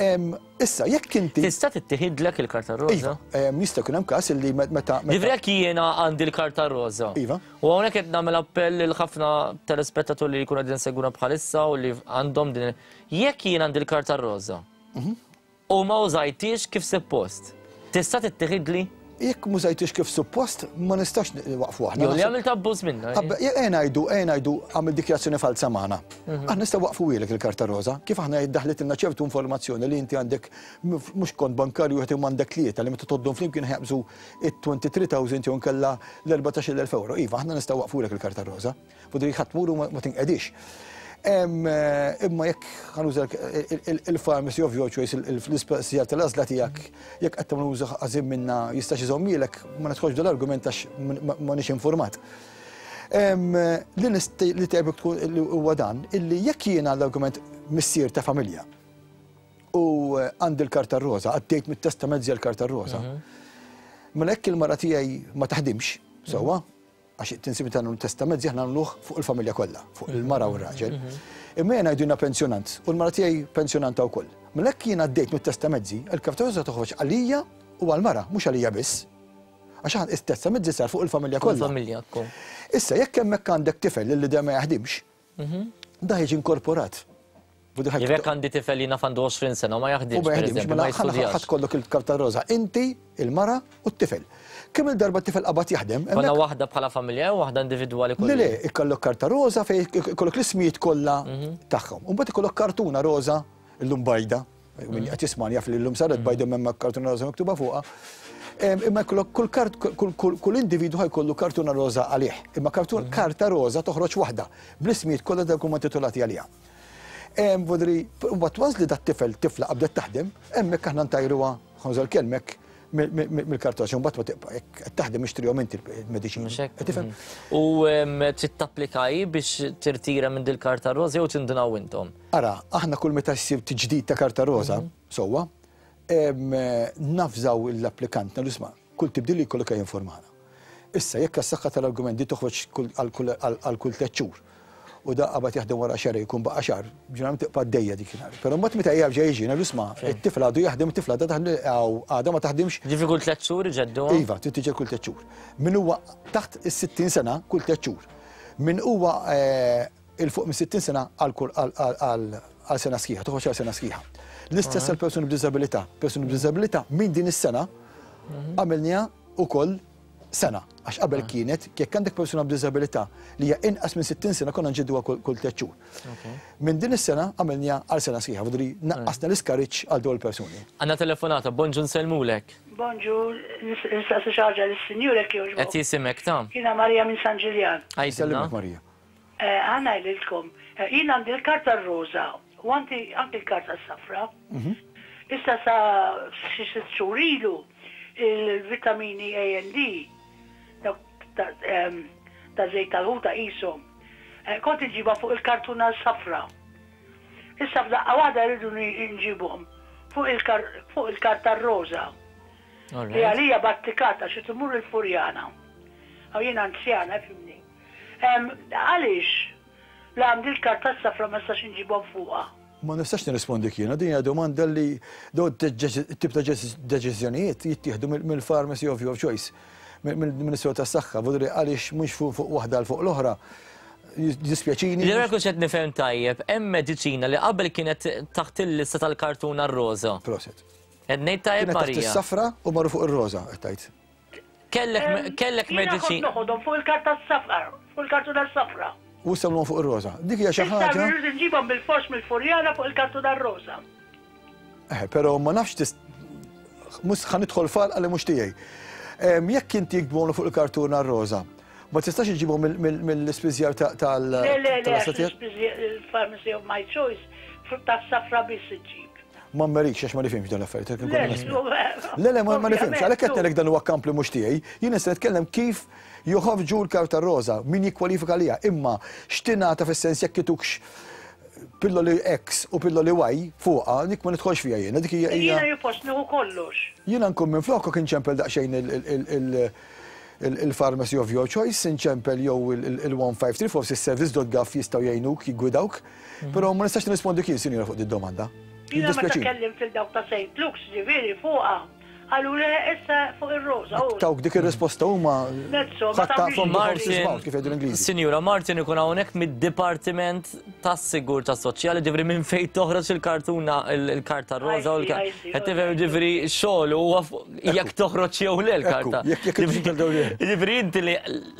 Issa, jekk inti. Tista' tittieħidlek il-karta roża? Iva, jista' jkun hemm każ li meta. Ġifieri jekk jiena għandi l-karta roża. Iva. U hawnhekk qed nagħmel appell lil ħafna telespettaturi li jkunu qegħdin segwuna bħalissa u li għandhom din. Jekk jien għandi l-karta roża u ma użajtix kif suppost, tista' tittieħidli? Jekk mużajtix kif suppost, ma nistax waqfu aħna. Jew li għamilt abbuż minna. Ejja ngħidu, ejja ngħidu għamil dikjarazzjoni falsa magħna. Aħna nistgħu waqfu ilek il-karta roża, kif aħna daħlitilna ċertu informazzjoni li inti għandek mhux kont bankarju qed imma għandek tlieta li meta toddhom flimkien ħjaqbżu it-twenty-three thousand jew nkella l-erbatax-il elf euro. Iva, aħna nistgħu waqfulek il-karta roża. Fudri ħadd tmur u ma tinqedix. Imma jekk ħanuża il-pharmacy of your choice, l-ispazjar tal-għażla tiegħek, jekk qed tagħmel użu ħażin minna jistax iżommilek, ma nidħolx dal-argument għax m'għandix informat. Li tajbek tkun li huwa dan, illi jekk jiena l-argument missier ta' familja u għandi l-karta roża, għaddejt mit-testament l-karta roża, mela jekk il-mara tiegħi ma taħdimx, sewwa, għax tinsibi ta' testament aħna nagħmluh fuq il-familja kollha, fuq il-mara u r-raġel. Imma jien għajduna pensjonant u l-mara tiegħi pensjonanta wkoll. Mela jekk jien għaddejt mit-testament, il-karta roża toħroġ għalija u għall-mara, mhux għalija biss. Għax aħna it-testament sar fuq il-familja kollha. Il-familja wkoll. Issa jekk hemmhekk għandek tifel li dejjem ma jaħdimx, da jiġi inkorporat. Jekk għandi tifel li naf għandu għoxrin sena u ma jaħdimx, U ma jaħdimx, mela ħadd kollok il-karta roża, inti, il-mara u t-tifel. Kemm il-darba t-tifel qabad jaħdem? Konna waħda bħala familja u waħda individwali kollha. Le, le, ikollok karta roża fejn ikollok l-ismijiet kollha tagħhom. U mbagħad ikollok kartuna roża illum bajda, min qed jismani jaf li llum saret bajda m'hemm kartuna roża miktuba fuqha. Imma jkollok kull kart, kull individwu ħajkollu kartuna roża għalih. Imma karta roża toħroġ waħda bl-ismijiet kollha dawk huma titolati għaliha. Vodri, mbagħad once li dat tifel tifla qabdet taħdem, hemmhekk aħna ntajruha, ħanżol kelmek mill-kartoċ, mbagħad ma tibqa' jekk qed taħdem ixtrihom inti l-mediċini. Tifhem? U trid tapplikaj biex tirtira minn dil-karta roża jew tindunaw intom? Ara, aħna kull meta ssir tiġdid ta' karta roża, sewwa, nafżaw l-applikant, nagħmlu isma' kull tibdil li jkollok jinformana. Issa jekk għas-saħħa tal-argument di toħroġ għal kull tliet xhur u da qabad jaħdem wara xahar jkun baqa' xahar, ġeneralment tibqa' għaddejja dik il-nhar. Però mbagħad meta jerġa' jiġi ngħidu isma' it-tifel għadu jaħdem, it-tifla għadha taħdem, għadha ma taħdimx. Ġifieri kull tliet xhur iġedduha? Iva, trid tiġi kull tliet xhur. Min huwa taħt is-sittin sena kull tliet xhur. Min huwa il fuq minn sittin sena għal sena sħiħa, toħroġ għal sena sħiħa. L-istess għal persuni b'diżabilità. Persuni b'diżabilità minn din is-sena għamilniha wkoll sena, għax qabel kienet, jekk għandek persuna b'diżabilità li hija inqas minn sittin sena konna nġedduha kull tliet xhur. Minn din is-sena għamilniha għal sena sħiħa, vodri naqqasna l-iskariġġ għal dawn il-persuni. Għandna telefonata, bonġu nsellmulek. Bonġu, nistaqsi xi ħaġa lis-sinjur jekk jogħġbok. Qed jisimek ta'. Jiena Marija minn San Ġiljan. Sellimek Marija. Ħa ngħidilkom, jien għandi l-karta r-roża u għandi anke l-karta s-safra. Issa sa xi sitt xhur ilu il-vitamini A and D dawk ta' em, ta' żejt tal-ħuta qishom. Eh, Kont inġibha fuq il-kartuna safra. Issa f'daqqa waħda rridu nġibuhom fuq il-kar- fuq il-karta roża. Li għalija battikata xi tmur il-Furjana. Aw jien anzjana, fhimni. Em, Għaliex la għandi l-karta safra ma nistax inġibhom fuqha. Ma nistax nirrispondik jiena, din hija domanda li daw tip ta' deċiżjonijiet jittieħdu mill- mill-pharmacy of your choice, mill-Ministeru tas-Saħħa, vuol dire għaliex mhux fuq fuq waħda għal fuq l-oħra. Dispjaċini. Li jekk qed nifhem tajjeb, hemm mediċina li qabel kienet taħt il-lista tal-kartuna roża. Prosit. Qed ngħid tajjeb Kienet taħt Marija. is-safra u marru fuq ir-roża, qed tgħid. Kellek kellek Jiena kont mediċina. noħodhom fuq il-karta safra, fuq il-kartuna safra. U issa fuq ir-roża. Dik hija xi Issa ħaġa. rridu nġibhom bil-fors mill-Furjana fuq il-kartuna roża. Eh, però ma nafx tis mhux ħa nidħol f'għalqa li mhux tiegħi. Em, Jekk inti jiktbulu fuq il-kartuna roża, ma tistax iġibhom mill-ispiżjar tal Le, le, le, tal-istatijiet? il-pharmacy of my choice, ta' safra biss iġib. Ma mmerikx għax ma nifhimx dan l-affarijiet. Le, Le, le, ma ma nifhimx, għalhekk qed ngħidlek dan huwa kamp li mhux tiegħi. Jien nista' nitkellem kif joħorġu l-karta roża, min jikkwalifika liha, imma x'tingħata fis-sens jekk itukx pilloli X u pilloli Y fuqha, dik ma nidħolx fiha jiena, dik hija Jiena hija jippost nieħu kollox. Jiena nkun minn flokok inċempel daqsxejn il-pharmacy of your choice, inċempel jew il-one five three, forsi service dot gov jistgħu jgħinuk, jiggwidawk, però ma nistax nirrispondi kien, sinjura, fuq di domanda. Jiena meta Jiddispjaċini. kellimt il dawk ta' Saint Luke's ġifieri fuqha, qalu le, issa fuq ir-roża. Oh. Tawk dik ir-risposta huma Mezzo, ma ħatta tagħmlix from the horse's Martin, mouth, kif jgħidu l-Ingliżi. Sinjura, Martin ikun hawnhekk mid-Dipartiment tas-Sigurtà Soċjali, ġifieri minn fejn toħroġ il-kartuna il-karta roża u I see, I see, l-qed tifhem, ġifieri xogħol huwa fuq jekk toħroġ jew le l-karta. Ekku, jekk jekk Ġifieri- Ġifieri inti li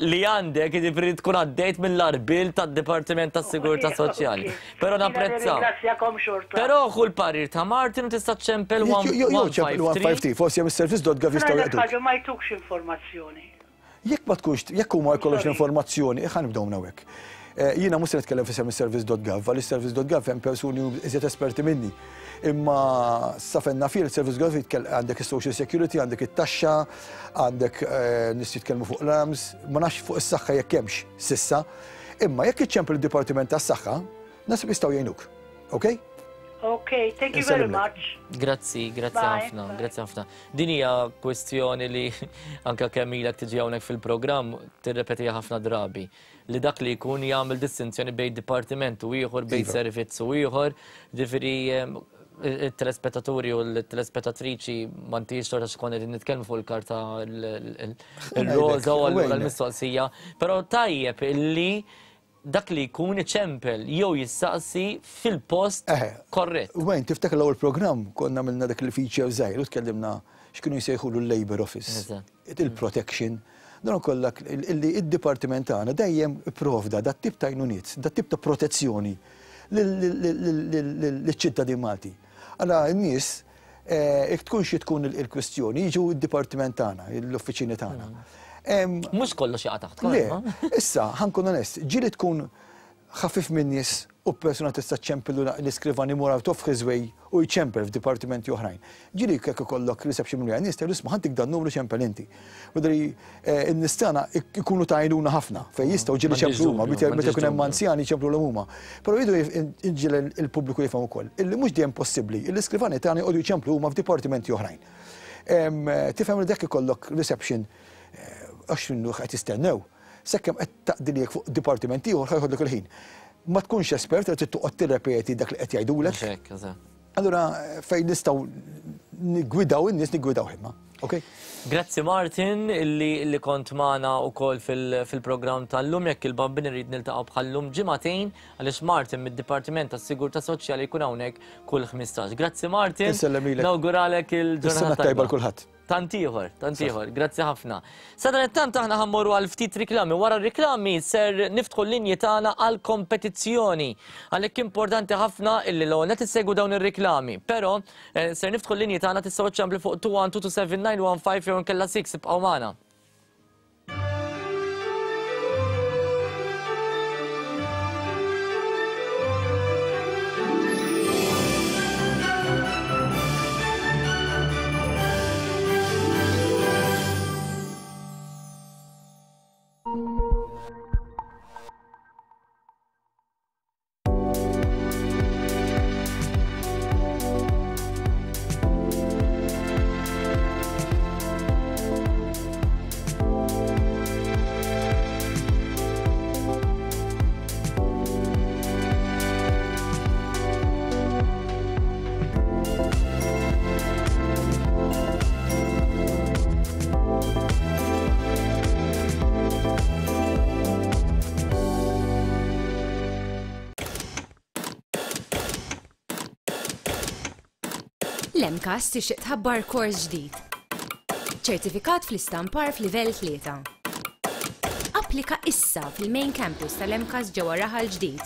li għandek, ġifieri tkun għaddejt mill-arbil tad-Dipartiment tas-Sigurtà Ok, Soċjali. ok. Però Jiena napprezza. nirringrazzjakom xorta. Però ħu l-parir ta' Martin u tista' ċempel Jew ċempel one five three, forsi hemm service dot gov jistgħu Ngħidlek jaqduk. ħaġa, ma jtukx informazzjoni. Jekk ma tkunx, jekk huma jkollhomx Sorry. l-informazzjoni, ħa nibdew minn hawnhekk. Eh, Jiena mhux se nitkellem f'isem is-service dot gov, għaliex service dot gov hemm persuni iżjed esperti minni. Imma sa fejn naf jien service dot gov jitkell- għandek is-social security, għandek it-taxxa, għandek eh, nies jitkellmu fuq l-arms, ma nafx fuq is-saħħa jekk hemmx sissa. Imma jekk iċċempel id-Dipartiment tas-Saħħa, naħseb jistgħu jgħinuk. Ok? Ok, thank you very Insellimlek. much. Grazzi, grazzi Bye. ħafna, Bye. grazzi ħafna. Din hija kwestjoni li anka kemm ilek tiġi hawnhekk fil-programm tirrepetiha ħafna drabi, li dak li jkun jagħmel distinzjoni bejn dipartiment u ieħor, bejn Iva. servizz u ieħor, ġifieri em, il-telespettaturi u l-telespettatriċi m'intix torta xkun qegħdin nitkellmu fuq il-karta il-roża u allura Wejn. l-mistoqsija, però tajjeb illi dak li jkun iċempel jew jistaqsi fil-post Eħe. korrett. Wejn, tiftakar l-ewwel programm konna għamilna dak il-feature żgħir u tkellimna x'kienu jsejħulu l-Labor Office, Eżatt. il-protection. Dan kollha illi id-dipartiment tagħna dejjem ipprovda dat tip ta' għajnuniet, dat tip ta' protezzjoni lill-ċittadin Malti. Allora n-nies jekk tkun xi tkun il-kwestjoni, jiġu id-dipartiment tagħna, l-uffiċini tagħna. Em, Mhux kollox jaqa' taħt Le, ma? issa, ħa nkun onest, ġieli tkun ħafif minn nies u persuna tista' ċempillu l-iskrivan imur out of his way u jċempel f'dipartimenti oħrajn. Ġieli jekk ikollok reception minn nies tgħidu, "Isma', ħa ntik dan numru, ċempel inti." Wadri n-nies tagħna ikunu ta' għajnuna ħafna fejn jistgħu ġieli M'għandix ċemplu huma, dubju, meta m'għandix ikun hemm dubju. anzjani ċemplu huma. Però jridu inġiel il-pubbliku jifhem ukoll illi mhux dejjem possibbli l-iskrivani tagħna jqogħdu jċemplu huma f'dipartimenti oħrajn. Em, Tifhem li dak ikollok reception għax minnu qed jistennew. Sekkem qed taqdilijek fuq dipartiment ieħor ħa jħodlok il-ħin. Ma tkunx espert qed toqgħod tirrepeti dak li qed jgħidulek. Mhux hekk, eżatt. Allura fejn nistgħu niggwidaw in-nies niggwidaw imma. Ok? Grazzi Martin illi, li kont magħna wkoll fil-programm tal-lum. Jekk il-Bambin irid niltaqgħu bħallum ġimagħtejn, għaliex Martin mid-Dipartiment tas-Sigurtà Soċjali jkun hawnhekk kull ħmistax. Grazzi Martin. Insellem lilek. Nawguralek il-ġurnata Is-sena tajba l kulħadd. Tant ieħor, tant ieħor, grazzi ħafna. Sadanittant aħna ħa mmorru għal ftit riklami. Wara r-riklami ser niftħu l-linji tagħna għal kompetizzjoni. Għalhekk importanti ħafna illi l qed issegwu dawn ir-riklami. Però eh, ser niftħu l-linji tagħna, tistgħu ċċemplu fuq two one two two seven nine one five jew nkella sitta. Ibqgħu magħna. L-MCAST tixtieq tħabbar kors ġdid. Ċertifikat fl-istampar f'livell tlieta. Applika issa fil-main campus tal-MCAST ġewwa Raħal Ġdid.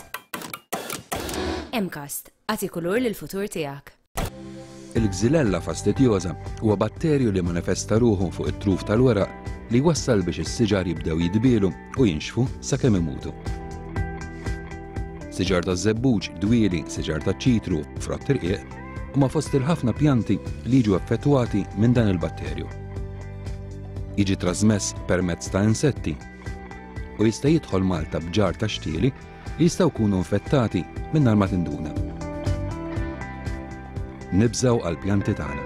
MCAST, agħti kulur lill-futur tiegħek. Il-Xylella fastidiosa huwa batterju li manifesta ruħu fuq it-truf tal-weraq li wassal biex is-siġar jibdew jidbielu u jinxfu sakemm imutu. Siġar taż-żebbuġ, dwieli, siġar taċ-ċitru, frott irqiq huma fost il-ħafna pjanti li jiġu effettwati minn dan il-batterju. Jiġi trasmess permezz ta' insetti u jista' jidħol Malta b'ġar ta' xtieli li jistgħu jkunu infettati mingħajr ma tinduna. Nibżgħu għall-pjanti tagħna.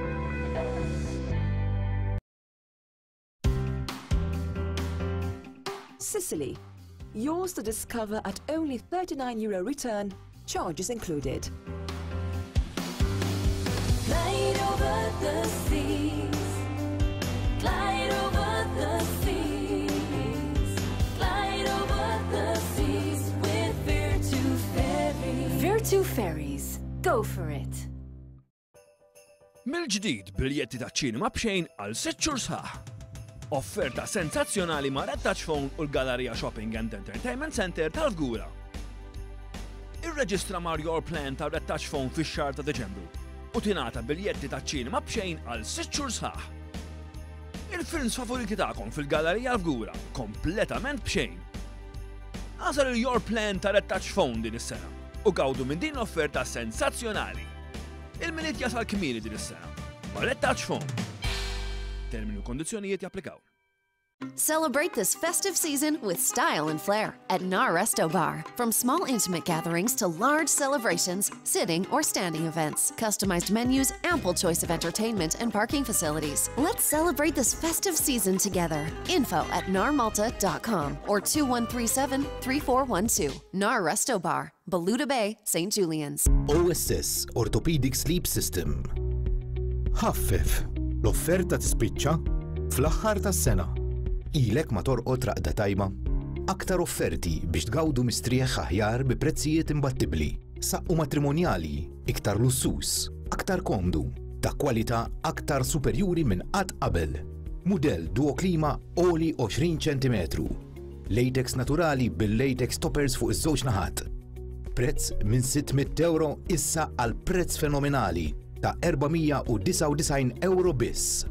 Sicily, yours to discover at only thirty-nine euro return, charges included. Glide over the seas, glide over the seas, glide over the seas with Virtu Ferries. Virtu Ferries, go for it. Mill-ġdid biljetti ta' ċinema b'xejn għal sitt xhur sħaħ. Offerta sensazzjonali ma' Red Touch Phone u l-Galleria Shopping and Entertainment Center tal-Fgura. Irreġistra ma' Your Plan ta' Red Touch Phone fix-xahar ta' Deċembru u tingħata biljetti ta' ċinema b'xejn għal sitt xhur sħaħ. Il-films favoriti tagħkom fil-Gallerija Fgura kompletament b'xejn. Għażel il-Your Plan ta' Red Touch Phone din is-sena u gawdu minn din l-offerta sensazzjonali. Il-Milied jasal kmieni din is-sena ma' Red Touch Phone. Termini u kondizzjonijiet japplikaw. Celebrate this festive season with style and flair at Nar Resto Bar. From small intimate gatherings to large celebrations, sitting or standing events, customized menus, ample choice of entertainment and parking facilities. Let's celebrate this festive season together. Info at nar malta dot com or two one three seven, three four one two. Nar Resto Bar, Balluta Bay, Saint Julian's. O S S Orthopedic Sleep System. Ħaffef, l-offerta tispiċċa fl-aħħar tas-sena. Ilek ma torqod raqda tajba. Aktar offerti biex tgawdu mistrieħ aħjar bi prezzijiet imbattibbli. Saqqu matrimonjali, iktar lussus, aktar komdu, ta' kwalità aktar superjuri minn qatt qabel. Mudell Duo Klima oli għoxrin ċentimetru. Latex naturali bil-latex toppers fuq iż-żewġ naħat. Prezz minn sitt mitt euro issa għal prezz fenomenali ta' erba' mija u disgħa u disgħin euro biss.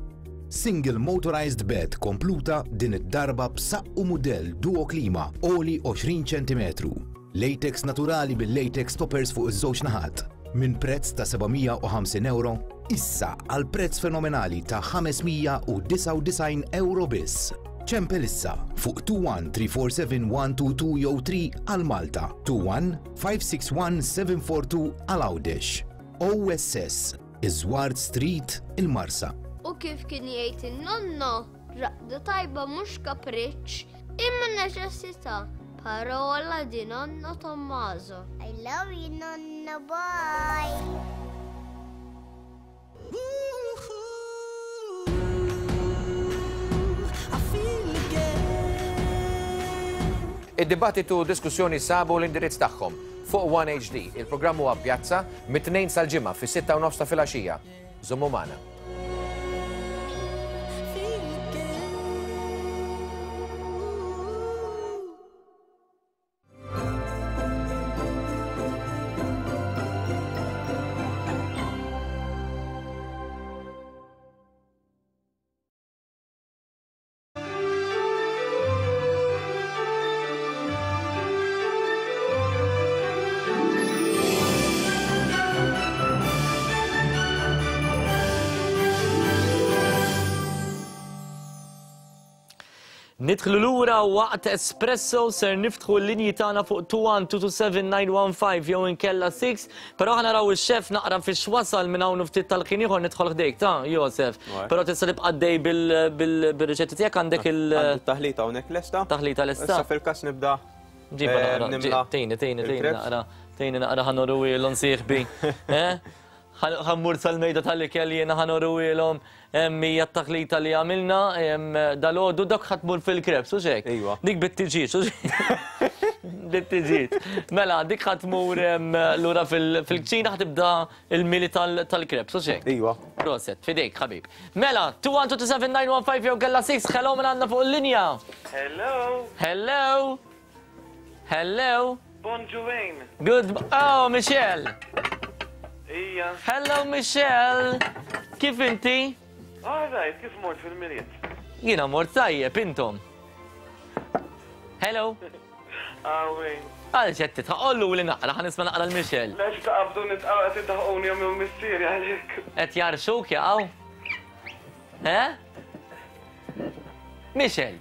Single motorized bed kompluta din id-darba b'saqqu mudell Duo Klima oli għoxrin ċentimetru. Latex naturali bil-latex toppers fuq iż-żewġ naħat. Minn prezz ta' seba' mija u ħamsin euro issa għal prezz fenomenali ta' ħames mija u disgħa u disgħin euro biss. Ċempel issa fuq two one three four seven one two two jew three għal Malta, two one five six one seven four two għal Għawdex. O S S, Iżward Street, il-Marsa. U kif kien jgħid in-nonno, raqda tajba mhux kapriċċ, imma neċessità. Parola di nonno Tommaso. I love you, nonno, bye. Id-dibattitu u diskussjoni sabu l-indirizz tagħhom fuq One H D. Il-programm huwa Pjazza mit-tnejn sal-ġimgħa fis-sitta u nofs ta' filgħaxija. Żommu magħna. Nidħlu lura waqt Espresso ser niftħu l-linji tagħna fuq two one two two seven nine one five jew inkella six, però ħa naraw ix-xef naqra fiex wasal minn hawn ftit tal-ħin ieħor nidħol ħdejk ta' Josef. Right. Però tista' tibqa' għaddej bil-, bil-, bil-riċetti tiegħek għandek il- Għandi taħlita hawnhekk lesta. Taħlita lesta. Issa fil-każ nibda, Ġiba eh, naqra, nimla ġi-, tejni, tejni, tejni il-crepes. naqra, tejni naqra ħa noruwielhom sieħbi. Eh? Ħa mmur sal-mejda tal-ikel jiena ħa noruwielhom hija t-taħlita li għamilna, em, dal-għodu dak ħa tmur fil-crepes, u xek? Iva. Dik bit-tiġiġ, u xek? Bit-tiġiġ. Mela, dik ħa tmur, em, lura fil-, fil-kċina ħa tibda il-mili tal-, tal-crepes, u xek? Iva. Proset, fidejk, ħabib. Mela, two one two two seven nine one five jew kella six, hello minn għandna fuq il-linja. Hello. Hello. Hello. Bonjour. Good. Oh, Michelle. Ija. Hello, Michelle. Kif inti? All right, kif mort fil-Milied? Jiena mort tajjeb, intom. Hello. Għawin. Għal xed titħaq, li naqra, ħa nisma' naqra l-Michelle. Lex taqabdu nitqaw qed iddaħquni jom jom missieri għalik. Qed jarxuk jaqgħu? Eh? Michelle.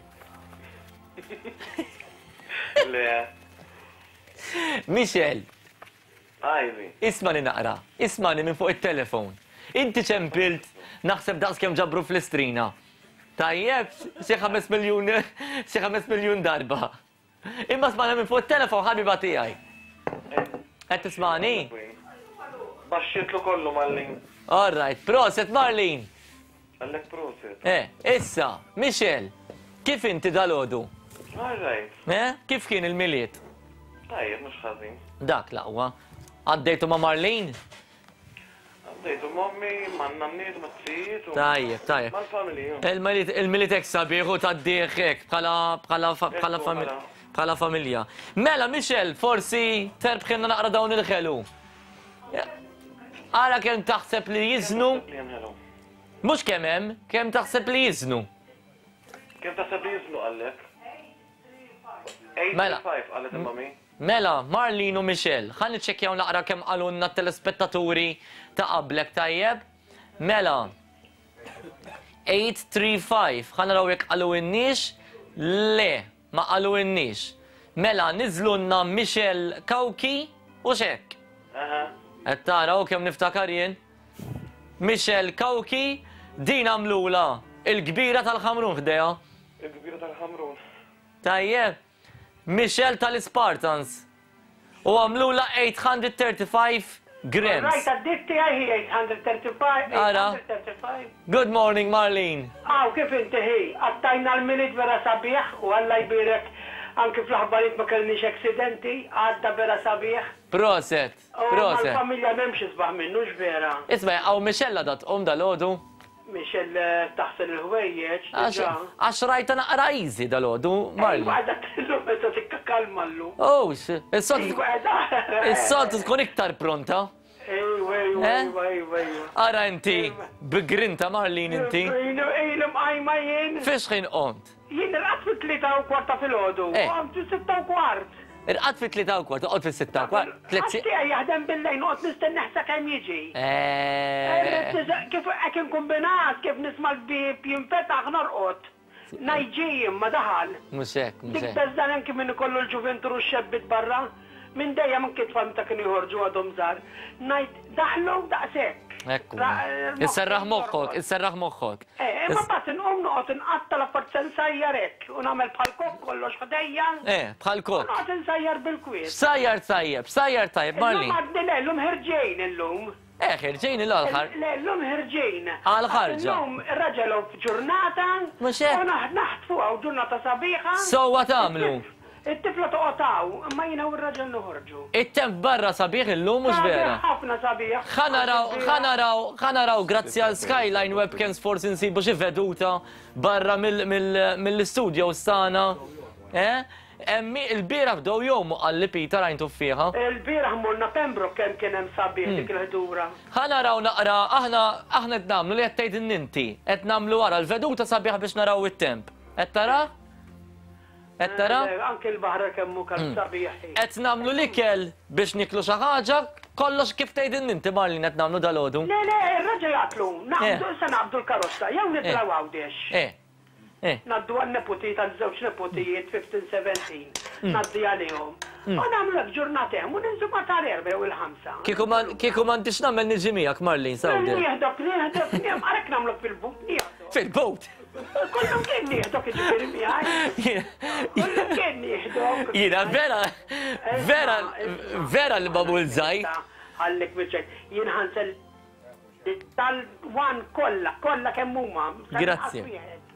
Le. Michelle. Għajri. Ismani naqra, ismani minn fuq it-telefon. Inti ċempilt, naħseb daqs kemm ġabru fl-istrina. Tajjeb, xi ħames miljun, xi ħames miljun darba. Imma smana minn fuq it-telefon ħabiba tiegħi. Qed tismani? Baxxietlu kollu Marlene. All right, proset Marlene. Għallek proset. Eh, issa, Michelle, kif inti dal-għodu? All right. Eh, kif kien il-Milied? Tajjeb, mhux ħażin. Dak l-aqwa. Għaddejtu ma' Marlene? Għaddejtu mommi, ma' nanniet, ma' tzijiet. Tajjeb, tajjeb. Mal-familja. Il-Milied hekk sabiħ u tgħaddih hekk bħala bħala bħala familja. Bħala familja. Mela, Michelle, forsi terbħilna naqra dawn il-ħelu. Ara kemm taħseb li jiżnu. Mhux kemm hemm, kemm taħseb li jiżnu. Kemm taħseb li jiżnu għallek? Mela. eight five qalet il-mami. Mela, Marlene u Michelle, ħa niċċekkjaw naqra kemm qalulna t-telespettaturi ta' qablek, tajjeb? Mela, eight three five, ħa naraw jekk qalu inniex? Le, ma qalu inniex. Mela, niżlulna Michelle Kauki u xek. Qed taraw kemm niftakar jien? Michelle Kauki, din għamlula il-kbira tal-Ħamrun ħdejha. Il-kbira tal-Ħamrun. Tajjeb, Michelle tal-Spartans. U għamlula eight hundred thirty-five grams. Right, għaddit tiegħi hi eight hundred thirty-five. Ara. eight hundred thirty-five. Good morning, Marlene. Aw, kif inti hi? Għattajna l-Milied vera sabiħ u Alla jbierek anki fl-aħbarijiet ma kellniex accidenti, għadda vera sabiħ. Proset, U proset. mal-familja m'hemmx isbaħ minnu, x'vera. Isma', għaw Michelle dat um dal-għodu? Michelle taħsel il-ħwejjeġ, Għax diġà. għax rajta naqra easy dal-għodu, Marlene. Iva, għadha tillum meta tikka kalma llum. Oh, is-soltu Iva, għadha. is-soltu tkun iktar pronta. Ejwa, ejwa, Eh? ejwa, ejwa, ejwa. Ara inti, bigrinta Marlene inti. Ilu, ilu mqajma jien. Fiex ħin qomt? Jien irqadt fit-tlieta u kwarta filgħodu. Eh. Qomt fis-sitta u kwart. Irqadt fit-tlieta u kwart, toqgħod fis-sitta u kwart. Tliet Għax si- tiegħi jaħdem bil-lejl, noqgħod nistenna sakemm jiġi. Eh. Kif hekk inkombinat, kif nisma' l-bib jinfetaħ norqod. Najġi ma daħal. Mhux hekk, mhux Dik hekk. beżan anki minn ikollu l-ġuventur u x-xebbit barra. Minn dejjem anki tfal meta kienu joħorġu għadhom żgħar. Ngħid daħlu daqshekk. Ekku. Ra- Isserraħ moħħok, isserraħ moħħok. Eh, imma mbagħad inqum noqgħod inqatta l-affarijiet se nsajjar hekk u nagħmel bħal kok kollox ħdejja. Eh, bħal kok. Noqgħod insajjar bil-kwiet. Sajjar tajjeb, sajjar tajjeb, Illum Marlene. għadni le, illum ħerġejn illum. Eh, ħerġejn il-għal Le, illum ħerġejn. Għal ħarġa. Illum ir-raġel f'ġurnata. Mhux hekk. U naħ- naħtfu għaw ġurnata sabiħa. Sewwa tagħmlu. It-tifla toqgħod hawn, imma jiena u r-raġel noħorġu. It-temp barra sabiħ illum mhux vera. Sabiħ, ħafna sabiħ. Ħa naraw, ħa naraw, ħa naraw, grazzi għal Skyline Webcams forsi nsibu xi veduta barra mill-studio stana. Eh? Emmi il-bieraħ bdew jgħumu qalli Peter għajn tuffiħa. Il-bieraħ morna Pembroke kemm kien hemm sabiħ dik il-ħdura. Ħa naraw naqra, aħna aħna qed nagħmlu li qed tgħid inti, qed nagħmlu wara l-veduta sabiħa biex naraw it-temp. Qed tara? Qed tara? Eh, Anke l-baħra kemm hu kemm sabiħ. Qed nagħmlu l-ikel biex niklu xi ħaġa, kollox kif tgħid inti Marlene qed nagħmlu dalgħodu. Le, le, ir-raġel jaqtlu, naqbdu Eh. se naqbdu l-karozza, jew nitilgħu Għawdex. Eh. Eh. Naddu għan-neputi tal-żewġ neputijiet fifteen seventeen. Mm. Naddi għalihom. Mm. U nagħmlu hekk ġurnata hemm u ninżu ma tal-erba' jew il-ħamsa. Kieku ma kieku m'għandix nagħmel niġi miegħek Marlene Sawder. Nieħdok, nieħdok, nieħdok, għalhekk nagħmlok fil-but, nieħdok. Fil-but? Kollum kien nieħdok iġifieri miegħi. Kollum kien nieħdok. Jiena vera, vera, vera li babul żgħir. Ħallik biċċek, jien ħansel tal-wan kollha, kollha kemm huma. Grazzi.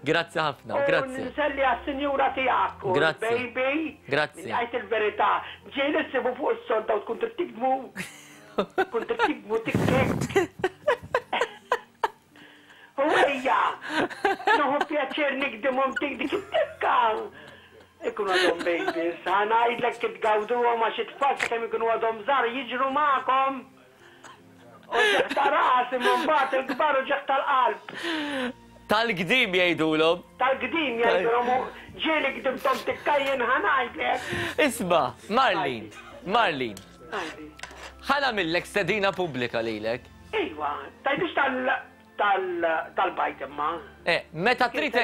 Grazzi ħafna, grazzi. Nselli għas-sinjura tiegħek u Grazzi. baby. Grazzi. Għajt il-verità, ġieli ssibu fuq is-sodda u tkun trid tikdmu. Tkun trid tikdmu tikkek. Ejja! Nieħu pjaċir nikdimhom tik dik it-tikka. Ikunu għadhom babies, ħa ngħidlek kif tgawduhom għax it-tfal sakemm ikunu għadhom żgħar jiġru magħkom. Uġigħ ta' ras imma mbagħad il-kbar uġigħ tal-qalb. Tal-gdim jgħidulhom. Tal-gdim jgħidulhom u ġieli gdimthom tikka jien ħa ngħidlek. Isma', Marlene, Marlene. Ħa nagħmillek stedina pubblika lilek. Iva, tgħidix tal tal-bajd imma. Eh, meta trid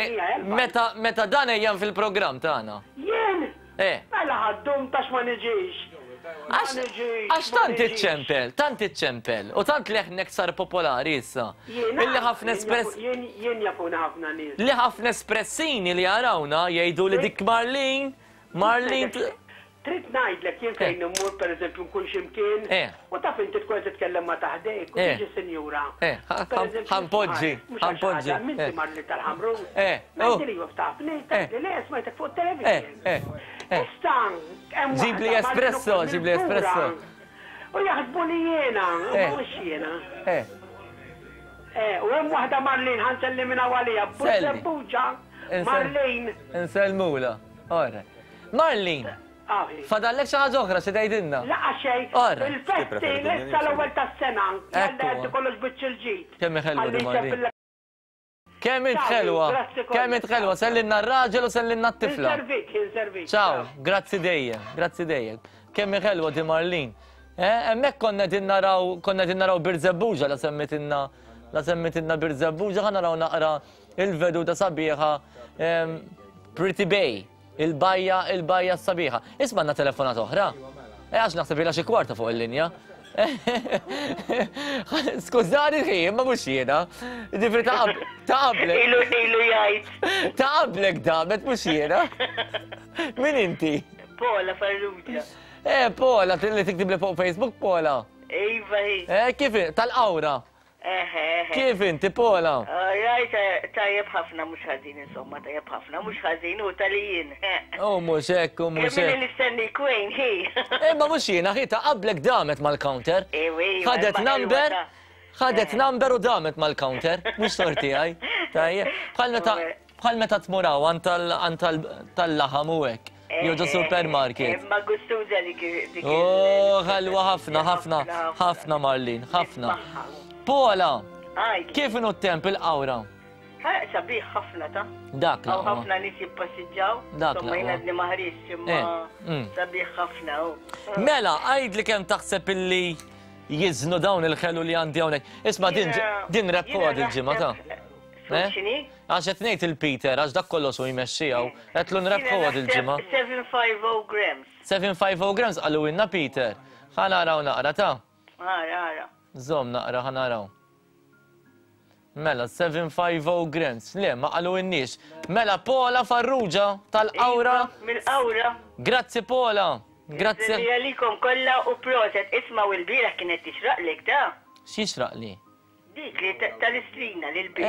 meta meta dan ejjan fil-programm tagħna. Jien? Eh. Mela ħaddum tax ma niġix. Għax tant iċċempel, tant iċċempel, u tant leħnek sar popolari issa. Illi ħafna espress. Jien jafuna ħafna nies. Li ħafna espressini li jarawna jgħidu li dik Marlene, Marlene. Trid ngħidlek jien fejn immur pereżempju nkun x'imkien u taf inti tkun qed titkellem ma' ta' ħdejk u tiġi sinjura. Ħa npoġġi, ħa npoġġi. M'inti Marlene tal-Ħamrun? Ngħidli iva tafni, tgħidli le smajtek fuq it-television. Issa hemm Ġibli espresso, ġibli espresso. U jaħsbu li jiena, u mhux jiena. U hemm waħda Marlene ħa nselli minn hawn għaliha, Bużebbuġa, Marlene. Insellmula. Ora. Marlene. Fadallek xi ħaġa oħra xi tgħidilna? Laqa xejn. Il-festi issa l-ewwel tas-sena. Jalla kollox biċċ il-ġid. Kemm ħelwa di Marlene. Kemm int ħelwa. Kemm int ħelwa, sellimna r-raġel u sellimna t-tifla. Inservik, inservik. Ciao, grazzi dejjem, grazzi dejjem. Kemm ħelwa di Marlene. Hemmhekk konna qegħdin naraw konna qegħdin naraw Birżebbuġa la semmitilna la semmitilna Birżebbuġa ħa naraw naqra il-veduta sabiħa Pretty Bay. Il-bajja, il-bajja s-sabiħa. Isma' għandna telefonat oħra. Eh, għax naħseb ilha xi kwarta fuq il-linja. Skużani ħi, ma mhux jiena. Ġifieri ta' qablek. Ilu ilu jgħid. Ta' qablek damet mhux jiena. Min inti? Pola Farrugia. Eh, Pola, li tiktib li fuq Facebook, Pola. Iva hi. Eh, kif tal-qawra? Kif inti, Pola? Rajt, tajjeb ħafna mhux ħażin insomma, tajjeb ħafna mhux ħażin u tal-jien. U mhux hekk, u mhux hekk. Kemm nistenni kwejn hi. Imma mhux jiena, hi ta' qablek damet mal-counter. Ħadet number, ħadet number u damet mal-counter, mhux tort tiegħi. Tajjeb, bħal meta bħal meta tmur hawn għand tal-laħam u hekk. Jew ġo supermarket. Ma gustuża dik. Oh, ħelwa ħafna, ħafna, ħafna Marlene, ħafna. Pola, kif inhu t-temp il-qawra? Sabiħ ħafna ta' Dak l ħafna nies jippassiġġaw. Dak l Jien għadni ma ħriġtx imma sabiħ ħafna. Mela, għidli kemm taħseb illi jiżnu dawn il-ħelu li għandi hawnhekk. Isma' din din rebħuha dil-ġimgħa ta' X'inhi? Għax qed ngħid il-Peter, għax dak kollox hu jmexxiha u qedlu nrebħuha dil-ġimgħa. seven five oh grams. seven five oh grams qalu ilna Peter. Ħa naraw naqra ta' Ara, ara. Żomm naqra ħa naraw. Mela, seven five oh grams. Le, ma qalu inniex. Mela, Pola Farrugia tal-Qawra. Mill-Qawra. Grazzi Pola. Grazzi. Grazzi għalikom kollha u proset. Isma' u l-bieraħ kienet tixraqlek da. X'jixraqli? Dik li tal-istrina li l-bis.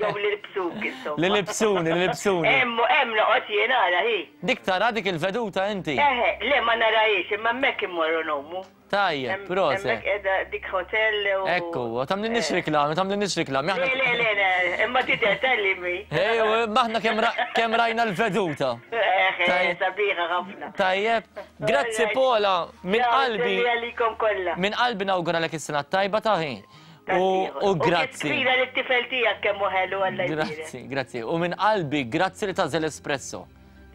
Jew li libsuk insomma. Li libsuni, li libsuni. Hemm hemm noqgħod jien ara hi. Dik tara dik il-veduta inti? Eħe, le ma narahiex imma hemmhekk immorru ngħumu. Tajjeb, proset. Hemmhekk qiegħda dik hotel u. Ekku, tagħmlilniex riklami, tagħmlilniex riklami. Le, le, le, le, imma tidher tal-li mi. Ejju, imma aħna kemm rajna l-veduta. Eħe, sabiħa ħafna. Tajjeb, grazzi Pola, minn qalbi. Grazzi għalikom kollha. Minn qalbi nawguralek is-sena t-tajba ta' ħin. U grazzi. U kbira li t-tifel tiegħek kemm hu ħelu Alla jbierek. Grazzi, grazzi. U minn qalbi, grazzi li tagħżel espresso.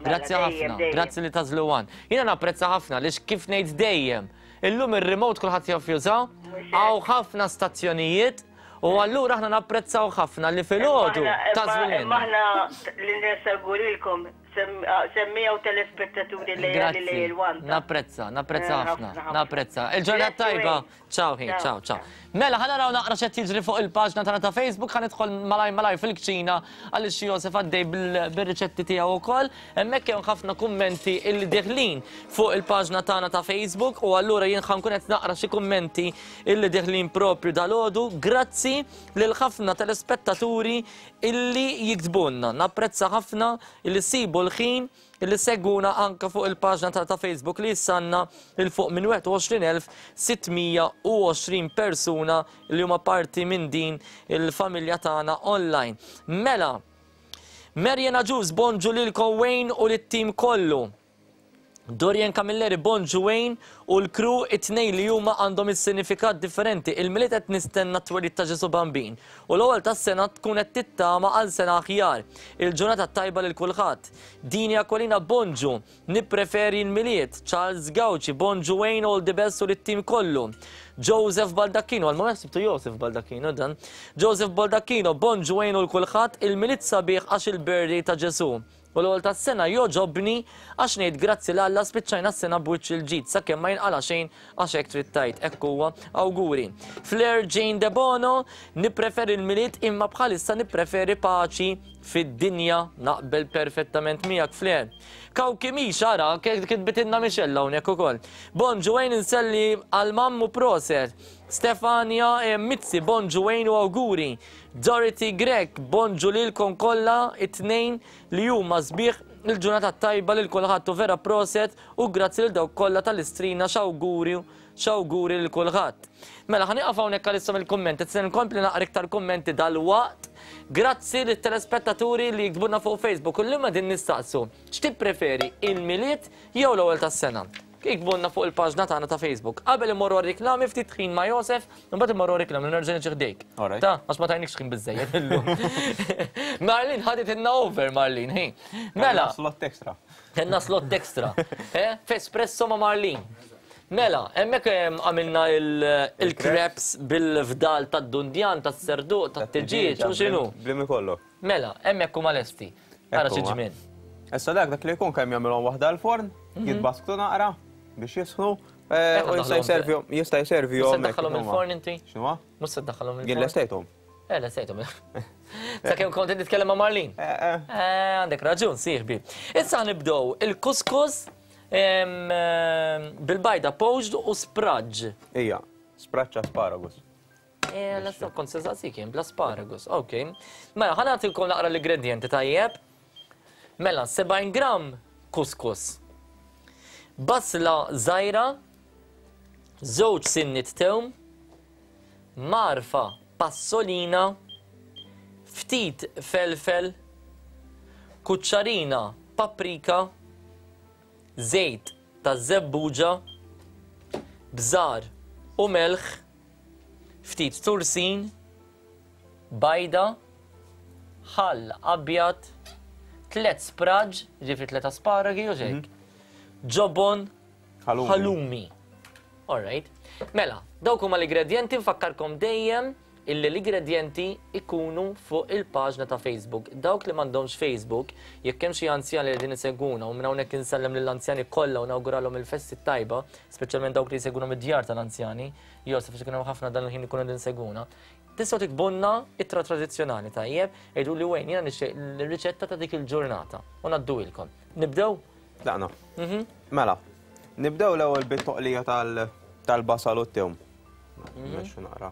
Grazzi ħafna, grazzi li tagħżlu one. Jiena napprezza ħafna għaliex kif ngħid dejjem. Illum ir-remote kulħadd jaf juża, hawn ħafna stazzjonijiet u allura aħna napprezzaw ħafna li filgħodu tagħżlu lilna. Imma aħna li nistgħurilkom semmija u telespettaturi li li l-one. Napprezza, napprezza ħafna, napprezza. Il-ġurnata tajba. Ciao ħin, ciao, ciao. Mela, ħa naraw naqra x'qed jiġri fuq il-paġna tagħna ta' Facebook, ħa nidħol malaj malaj fil-kċina għaliex Josef għaddej bir-riċetti tiegħu wkoll. Hemmhekk hemm ħafna kummenti illi deħlin fuq il-paġna tagħna ta' Facebook u allura jien ħa nkun qed naqra xi kummenti illi deħlin propju dalgħodu. Grazzi lil ħafna telespettaturi illi jiktbulna. Napprezza ħafna illi ssibu kull ħin li seguna anka fuq il-paġna ta' ta' Facebook li jissanna il fuq minn wieħed u għoxrin elf sitt mija u għoxrin persuna li huma parti minn din il-familja tagħna online. Mela, Marian Agius, bonġu lilkom Wayne u lit-tim kollu. Dorian Camilleri, bonġu Wayne u l-kru it-tnejn li huma għandhom is-sinifikat differenti. Il-Milied qed nistenna t-twelid ta' Ġesu Bambin u l-ewwel tas-sena tkun qed tittama għal sena aħjar. Il-ġurnata tajba lil kulħadd. Dini Aquilina, bonġu, nippreferi l-Milied. Charles Gauci, bonġu Wayne, all the best u lit-tim kollu. Joseph Baldacchino, għal-moment sibtu Joseph Baldacchino dan. Joseph Baldacchino, bonġu Wayne u l-kulħadd, il-Milied sabiħ għax il-birthday ta' Ġesu. U l-ewwel tas-sena joġobni għax ngħid grazzi l Alla spiċċajna s-sena b'wiċċ il-ġid sakemm ma jinqala xejn għax hekk trid tgħid, hekk huwa awguri. Flair Jane De Bono, nippreferi l-Milied imma bħalissa nippreferi paċi fid-dinja, naqbel perfettament miegħek Flair. Kawki Mix, ara, kitbitilna Michelle hawnhekk ukoll. Bonġu Wayne, inselli għal mammu proset. Stefania Mizzi, bonġu Wayne u awguri. Dorothy Grech, bonġu lilkom kollha it-tnejn li huma sbieħ il-ġurnata tajba lil kulħadd u vera proset u grazzi lil dawk kollha tal-Istrina, x'awguri, x'awguri lil kulħadd. Mela ħa nieqaf hawnhekk għalissa mill-kummenti, se nkompli naqra iktar kummenti dal-waqt. Grazzi lit-telespettaturi li jiktbulna fuq Facebook u llum qegħdin nistaqsu x'tippreferi, il-Milied jew l-ewwel tas-sena? Iktbulna fuq il-paġna tagħna ta' Facebook. Qabel immorru għar-reklami ftit ħin ma' Josef, imbagħad immorru għar-reklami nerġa' niġi ħdejk. Ta, għax ma tajnikx ħin biżejjed illum. Marlin ħadet inna over Marlin, hi. Mela. Slot extra. Kenna slot extra. Eh, f'Espresso ma' Marlin. Mela, hemmhekk għamilna il-crepes bil-fdal tad-dundjan, tas-serduq, tat-tiġieġ u x'inhu. Blimi kollu. Mela, hemmhekk huma lesti. Ara xi ġmien. Issa dak dak li jkun kemm jagħmilhom waħda l-forn, jitbasktu naqra biex jisħnu, u jista' jservihom, jista' jservihom. Mhux se ddaħħalhom il-forn inti? X'inhuwa? Mhux se ddaħħalhom il-forn. Jien lestejthom. Eh, lestejthom. Sakemm kont qed nitkellem ma' Marlin. Eh, għandek raġun, sieħbi. Issa nibdew il-kuskus bil-bajda poached u spraġġ. Ija, spraġġ asparagus. Eh, l-issa kont se saqsik jien bl-asparagus. Ok. Mela, ħa nagħtilkom naqra l-ingredjenti tajjeb. Mela, sebgħin gram kuskus. Basla żgħira, żewġ sinnit tewm, marfa passolina, ftit felfel, kuċċarina paprika, żejt ta' żebbuġa, bżar u melħ, ftit tursin, bajda, ħall abjad, tliet spraġ, ġifri tliet asparagi u xejk, ġobon, halloumi. All right. Mela, dawk huma l-ingredienti, nfakkarkom dejjem illi l-ingredienti ikunu fuq il-paġna ta' Facebook. Dawk li m'għandhomx Facebook, jekk hemm xi anzjani li qegħdin isegwuna, u minn hawnhekk insellem lill-anzjani kollha u nawguralhom il-festi tajba, speċjalment dawk li jsegwuna mid-djar tal-anzjani, Josef, għax ikun hemm ħafna dan il-ħin ikunu qegħdin isegwuna. Tistgħu tikbunna ittra tradizzjonali tajjeb, jgħidu li Wayne jiena nixtieq l-riċetta ta' dik il-ġurnata u ngħadduilkom. Nibdew? Tlaqna. Mela, nibdew l-ewwel bit-toqlija tal-basal u t-tewm. Mexxu naqra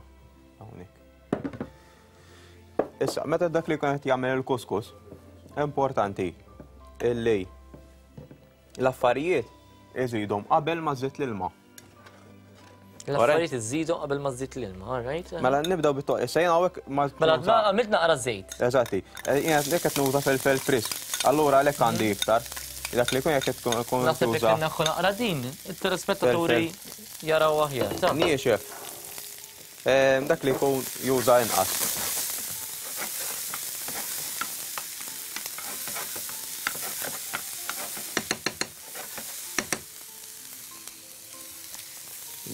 hawnhekk. Issa, meta dak li jkun qed jagħmel il-kuskus, importanti illi l-affarijiet iżidhom qabel ma żżid l-ilma. L-affarijiet iżidhom qabel ma żżid l-ilma, all right? Mela nibdew bit-toqlija. Issa jiena hawnhekk ma Mela għamilt naqra żejt. Eżatti. Jiena jekk qed nuża felfel frisk, allura għalhekk għandi iktar. Dak li jkun jekk qed tkun Naħseb jekk tuża. inneħħu naqra din, it-telespettaturi jaraw aħjar. Ta. Niexef. Ehm, dak li jkun juża inqas.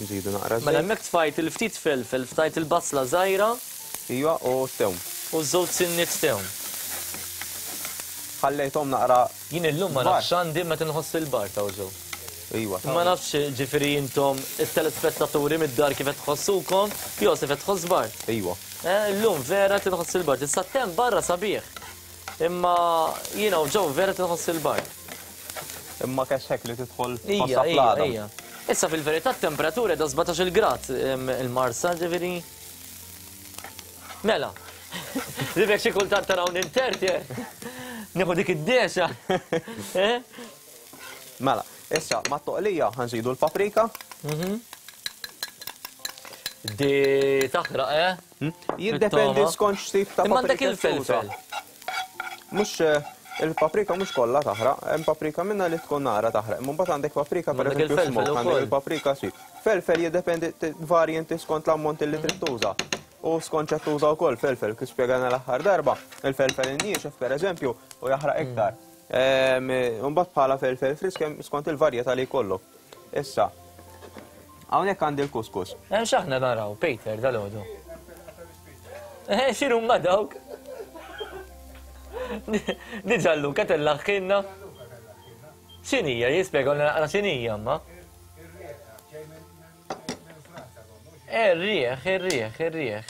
Nżidu naqra Mela żejt. hemmhekk tfajt il-ftit felfel, ftajt il-basla żgħira. Iva, u t-tewm. U żewġ sinniet tewm. Ħallejthom naqra Jien illum ma kbar. nafx għandi meta nħoss il-bar ta' ġew. Iva, Ma nafx ġifieri intom it-telespettaturi mid-dar kif qed tħossukom, Josef qed tħoss bar. Iva. Eh, illum vera tinħoss il-bar. Issa tem barra sabiħ. Imma jiena u ġew vera tinħoss il-bar. Imma kesħek li tidħol Ija, tħossha ija, fl-għadam. ija. Issa fil-verità t-temperatura da sbatax-il grad, em, il-Marsa, ġifieri. Mela. Ribek xi kultant taraw ninterti. Nieħu dik id-dexa. Mela, issa ma' toqlija ħanżidu l-paprika. Di taħraq, eh? Jiddependi skont x'tip ta' paprika. Imma il-felfel. Mhux il-paprika mhux kollha taħraq, hemm paprika minna li tkun nara taħraq. Imma mbagħad għandek paprika pereżempju smoke, għandek il-paprika si. Felfel jiddependi varjanti skont l-ammont li trid tuża. U skont x'qed tuża wkoll felfel, kif spjegana l-aħħar darba, il-felfel inniexef pereżempju u jaħraq iktar. Mbagħad bħala felfel frisk skont il-varjetà li jkollok. Issa, hawnhekk għandi l-kuskus. Hemm x'aħna naraw, Peter, dal-għodu. Eh, x'inhu ma dawk? Diġà Luca tellaħħinna. X'inhija, jispjegawna naqra x'inhija ma. Ir-rieħ, ir-rieħ, ir-rieħ.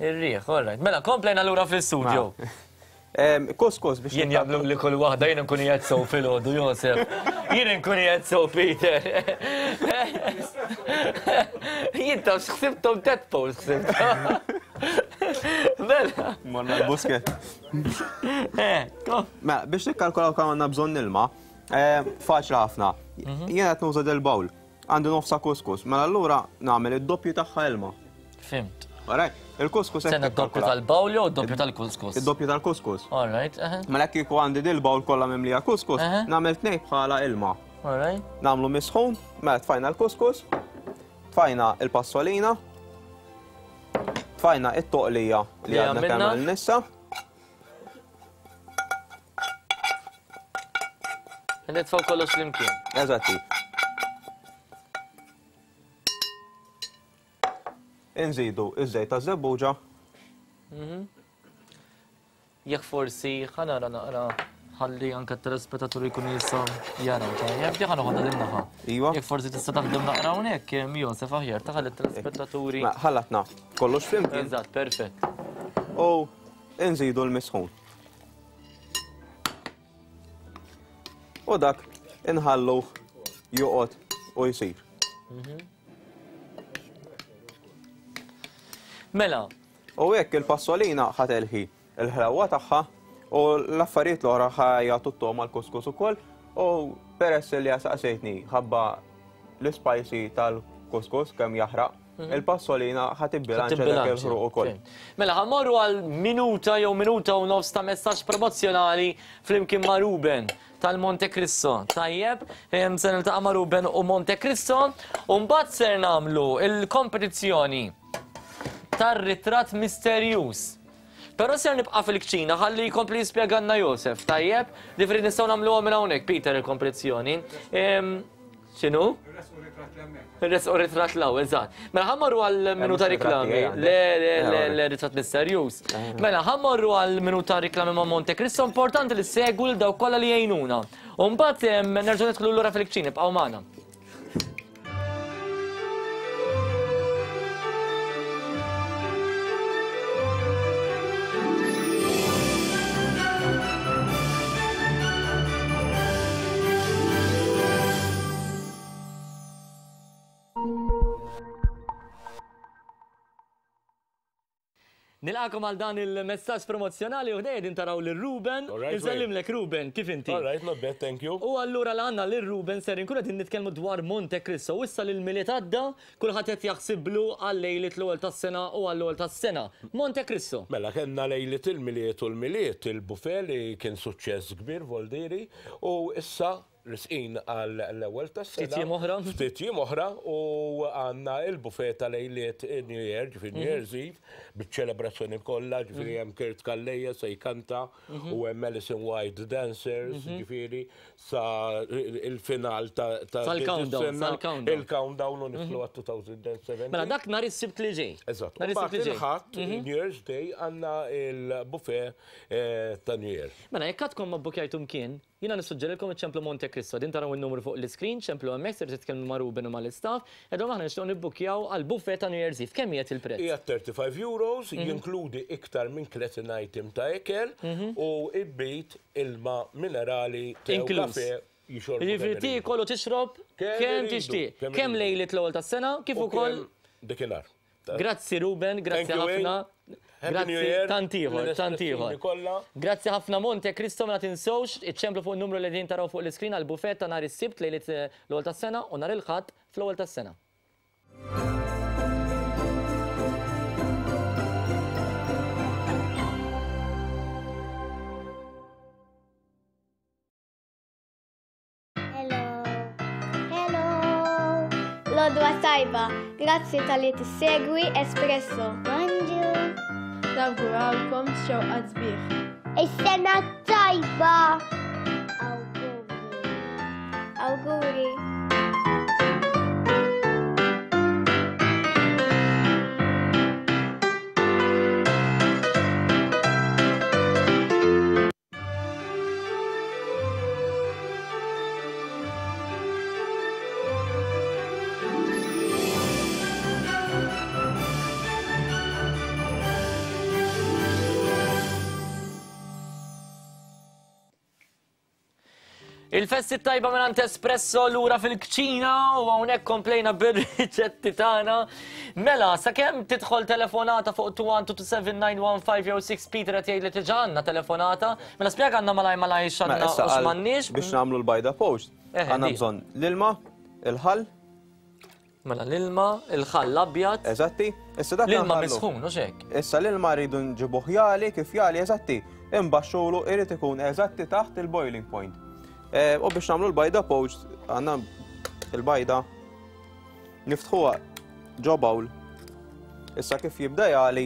Ir-rieħ, all right. Mela, komplejna lura fl-istudio. Kuskus biex. Jien jagħmlu li kull waħda jien nkun qiegħed sew filgħodu, Josef. Jien nkun qiegħed sew Peter. Jien taf x'ħsibthom tadpoles ħsibthom. Mela. Morna l-busket. Mela, biex nikkalkulaw kemm għandna bżonn ilma, faċli ħafna. Jien qed nuża del-bowl. Għandi nofsa kuskus, mela allura nagħmel id-doppju tagħha ilma. Fimt. Alright, il-kuskus Sena d-doppju tal-bowl jew d-doppju tal-kuskus? Id-doppju tal-kuskus. Alright, Mela kieku għandi dil-bowl kollha mimlija kuskus, nagħmel tnejn bħala ilma. Alright. Nagħmlu misħun, mela tfajna l-kuskus, tfajna l-passolina, tfajna it-toqlija li għadna kemm għamilna. Nitfgħu kollox flimkien. Eżatti. Inżidu iż-żejt ta' żebbuġa. Jekk forsi ħanara naqra ħalli anke t-telespettaturi jkunu jistgħu jaraw tajjeb, di ħanoħodha din naħa. Iva. Jekk forsi tista' taħdem naqra hawnhekk, Josef aħjar taħalli t-telespettaturi. Ħallatna kollox flimkien. Eżatt, perfett. U nżidu l-misħun. U dak inħalluh joqgħod u jsir. Mela. U hekk il-passolina ħatelħi il-ħlewwa tagħha u l-affarijiet l-oħra ħajatu t-togħma l-kuskus ukoll u peress li saqsejtni ħabba l-spicy tal-kuskus kemm jaħraq, il-passolina ħatibbilanċa dak il-ħruq ukoll. Mela ħammorru għal minuta jew minuta u nofs ta' messaġġ promozzjonali flimkien ma' Ruben tal-Monte Cristo. Tajjeb, se niltaqa' ma' Ruben u Monte Cristo u mbagħad ser nagħmlu il-kompetizzjoni tar-ritratt misterjuż. Però ser nibqa' fil-kċina ħalli jkompli jispjegalna Josef, tajjeb? Ġifieri nistgħu nagħmluha minn hawnhekk Peter il-kompetizzjoni. X'inhu? Ir-resqu ritratt l-hawn, eżatt. Mela ħammorru għal minuta riklami. Le, le, le, le, ritratt misterjuż. Mela ħammorru għal minuta riklami ma' Monte Cristo, importanti li segwu l dawk kollha li jgħinuna. U mbagħad nerġgħu nidħlu lura fil-kċina, ibqgħu magħna. Nilqakom għal dan il-messaġġ promozzjonali u ħdejja din taraw lil Ruben. Insellimlek Ruben, kif inti? All right, not bad, thank you. U allura l-għandna lil Ruben ser inkunu qegħdin nitkellmu dwar Monte Cristo. U issa lil Milied għadda, kulħadd qed jaħsiblu għal lejliet l-ewwel tas-sena u għall-ewwel tas-sena. Monte Cristo. Mela kellna lejliet il-Milied u l-Milied il-buffet li kien suċċess kbir Voldiri u issa risqin għal l-ewwel tas-sena. Ftit jiem oħra. Ftit jiem oħra u għandna il-buffet ta' lejliet New Year, ġifieri New Year's Eve, biċ-ċelebrazzjoni kollha, ġifieri hemm Kurt Calleja se jkanta u hemm Alison White Dancers, ġifieri sa il-final ta' Sal-countdown, sal-countdown. Il-countdown u nidħlu għat two thousand seventeen. Mela dak nhar is-Sibt li ġej. Eżatt. U mbagħad il-Ħadd, New Year's Day, għandna il-buffet ta' New Year. Mela jekk għadkom ma bbukjajtu mkien, jiena nissuġġerilkom iċċemplu Monte Cristo. Din taraw in-numru fuq l-iskrin, ċemplu hemmhekk ser titkellmu ma' Ruben u mal-istaff, edhom aħna nixtiequ nibbukkjaw għal buffet ta' New Year's Eve. Kemm qiegħed il-prezz? Qiegħed thirty-five euros, jinkludi iktar minn tletin item ta' ikel u ibbit ilma minerali tew kafe jixorbu. Jiġifieri tiekol u tixrob kemm tixtieq. Kemm lejliet l-ewwel tas-sena kif ukoll dakinhar. Grazzi Ruben, grazzi ħafna. Happy New Grazzi, Year. tant ieħor, tant ieħor. Kollha. Grazzi ħafna Monte Cristo, ma tinsewx iċċemplu fuq in-numru li qegħdin taraw fuq l-iskrin għal buffet ta' nhar is-Sibt lejliet eh, l-ewwel tas-sena u nhar il-Ħadd fl-ewwel tas-sena. Hello. Hello. L-għodwa tajba. Grazzi talli tissegwi Espresso. Bonġu. Nawgurawlkom xewqat sbieħ. Is-sena tajba. Awguri. Awguri. Il-festi tajba minn Espresso lura fil-kċina u hawnhekk komplejna bir-riċetti tagħna. Mela, sakemm tidħol telefonata fuq two one two two seven nine one five jew six Peter qed jgħid li diġà għandna telefonata. Mela spjega għandna malaj malaj x'għandna Mela, issa u għal- x'm'għandniex. Biex nagħmlu l-bajda poached, Eh, għandna di. bżonn l-ilma, il-ħall. Mela l-ilma, il-ħall l-abjad. Eżatti. Issa dak L-ilma nħallu. misħun, u xek? Issa l-ilma rridu nġibuh jali, kif jali, eżatti. Imbaxxulu irid ikun eżatti taħt il-boiling point. Eh, U biex nagħmlu l-bajda poached, għandna il-bajda niftħuha ġo bowl. Issa kif jibda jali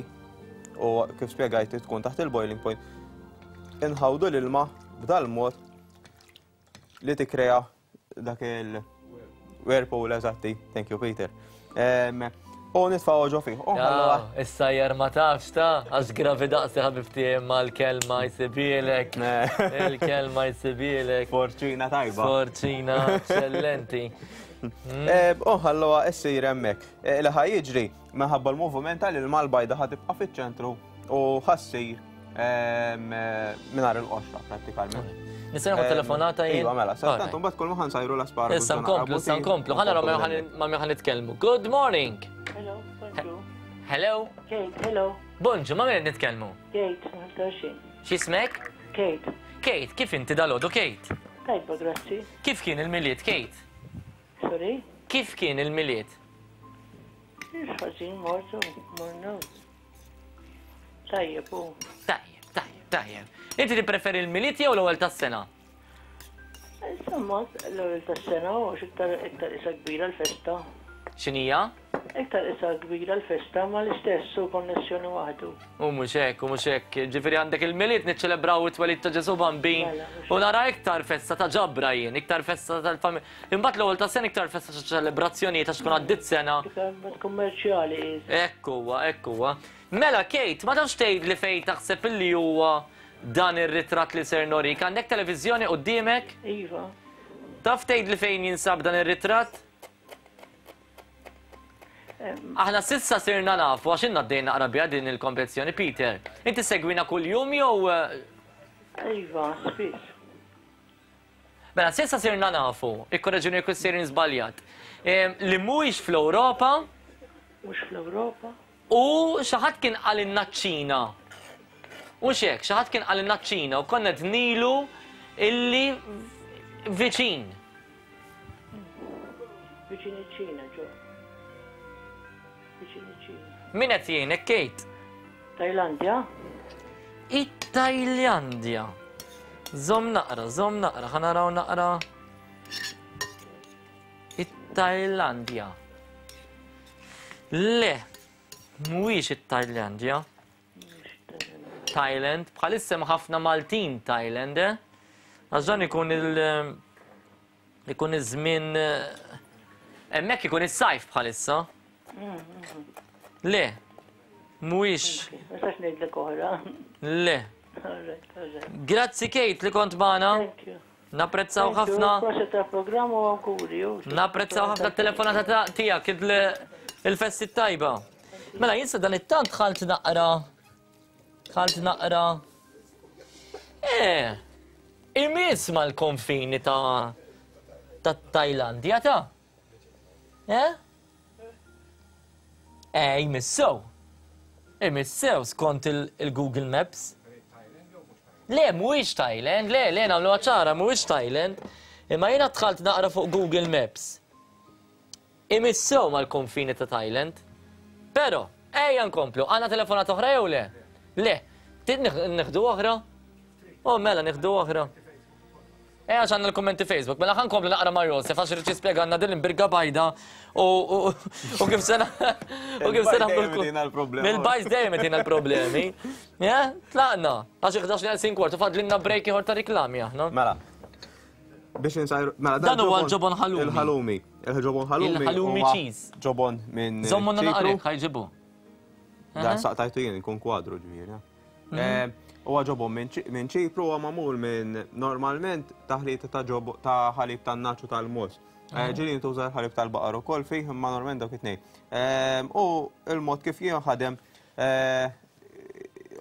u kif spjegajt tkun taħt il-boiling point, inħawdu l-ilma b'dal-mod li tikkrea dak il-whirlpool eżatti. Thank you, Peter. Em, U nitfgħu ġo fih. U nħalluha Ja, Issa jar ma tafx ta' għax gravi daqsi ħabibti imma l-kelma jsibilek. Il-kelma jsibilek. Forċina tajba. Forċina, eccellenti. Eh, U nħalluha issir hemmhekk. Eh, Li ħa jiġri minħabba l-moviment tal-ilma l-bajda ħa tibqa' fiċ-ċentru u ħassir mingħajr il-qoxra prattikament. Nista' nieħu Em, telefonata jien? Iva, mela, sa Alright. tant imbagħad kull ma ħansajru l-asparagus. Issa nkomplu, issa nkomplu. Ħa naraw ma' min ħa nitkellmu. Good morning. Hello, bonġu. Hello. Kate, hello. Bonġu, ma' min qed nitkellmu? Kate, Maltaxin. X'ismek? Kate. Kate, kif inti dalgħodu Kate? Tajba, grazzi. Kif kien il-Milied, Kate? Sorry? Kif kien il-Milied? Mhux ħażin mortu, morna. Tajjeb, u. Tajjeb, tajjeb, tajjeb. Inti tippreferi l-Milied jew l-ewwel tas-sena? Insomma, l-ewwel tas-sena u iktar iktar isa kbira l-festa. X'inhija? Iktar isa kbira l-festa ma l-istess u konnessjoni waħdu. U mhux hekk, u mhux hekk. Ġifieri għandek il-Milied niċċelebraw it-twelid ta' Ġesù Bambin u nara iktar festa ta' ġabra jien, iktar festa tal-familja. Imbagħad l-ewwel tas-sena iktar festa ta' ċelebrazzjonijiet għax tkun għaddiet sena. Iktar kummerċjali is. Ekk huwa, ekk huwa. Mela Kate, ma tafx tgħid li fejn taħseb illi huwa dan ir-ritratt li ser norik. Għandek televiżjoni quddiemek? Iva. Taf tgħid li fejn jinsab dan ir-ritratt? Aħna sissa sirna nafu għax inna għaddejna naqra biha din il-kompetizzjoni, Peter. Inti segwina kuljum jew eh, Iva, spiss. Mela, sissa sirna nafu, ikkorreġuni jekk sejrin żbaljat, em, li mhuwiex fl-Ewropa Mhux fl-Ewropa. u xi ħadd kien qalilna ċ-Ċina. U xek, xi ħadd kien qalilna ċ-Ċina u konna dnilu illi viċin. Viċin iċ-Ċina, ġo. Viċin iċ-Ċina. Min qed jgħinek, Kate? Tajlandja? It-Tajlandja. Żomm naqra, żomm naqra, ħa naraw naqra. It-Tajlandja. Le, mhuwiex it-Tajlandja. Thailand, bħalissa hemm ħafna Maltin Thailand, eh? Għax dan ikun il- ikun iż-żmien eh, hemmhekk ikun is-sajf bħalissa. Le, mhuwiex. Ma nistax ngħidlek oħra. Le. Alright, alright. Grazzi Kate li kont magħna. Thank you. Napprezzaw Thank you. ħafna. Proset tal-programm u awguri. u. Napprezzaw ħafna t-telefonata ta' tiegħek il- il-festi tajba. Mela jinsa dan it-tant ħalt naqra. Ħalt naqra. Eh, imiss mal-konfini ta' ta' Tajlandja ta'. Eh? Eh, jmissow. Imissew skont il-Google Maps. Le, mhuwiex Thailand, le, le, nagħmlu ċara, mhuwiex Thailand. Imma jiena dħalt naqra fuq Google Maps. Imissew mal-konfini ta' Thailand. Però, ejja nkomplu, għandna telefonata oħra jew le? Le, trid nieħdu oħra? Oh, mela, nieħdu oħra. Ejja għax għandna l-kummenti Facebook, mela ħa nkomplu naqra ma' Josef għax irid jispjegana din l-imbirga bajda u kif se u kif se nagħmlu l-bajd dejjem itina l-problemi. Tlaqna, għax ħdax neqsin kwart u fadlilna break ieħor ta' riklami aħna. Mela. Biex insajru, mela dan huwa l-ġobon ħalumi. Il-ħalumi. Il-ġobon ħalumi. Il-ħalumi cheese. Ġobon minn. Żommonna naqra ħajġibu. Dan saqtajtu jien ikun kwadru ġifieri. Huwa ġobon minn Ċipru huwa magħmul minn normalment taħlita ta' ġobon ta' ħalib tan-naċ u tal-mogħoż. Ġieli jintuża l-ħalib tal-baqar ukoll fih imma normalment dawk it-tnejn. U l-mod kif jinħadem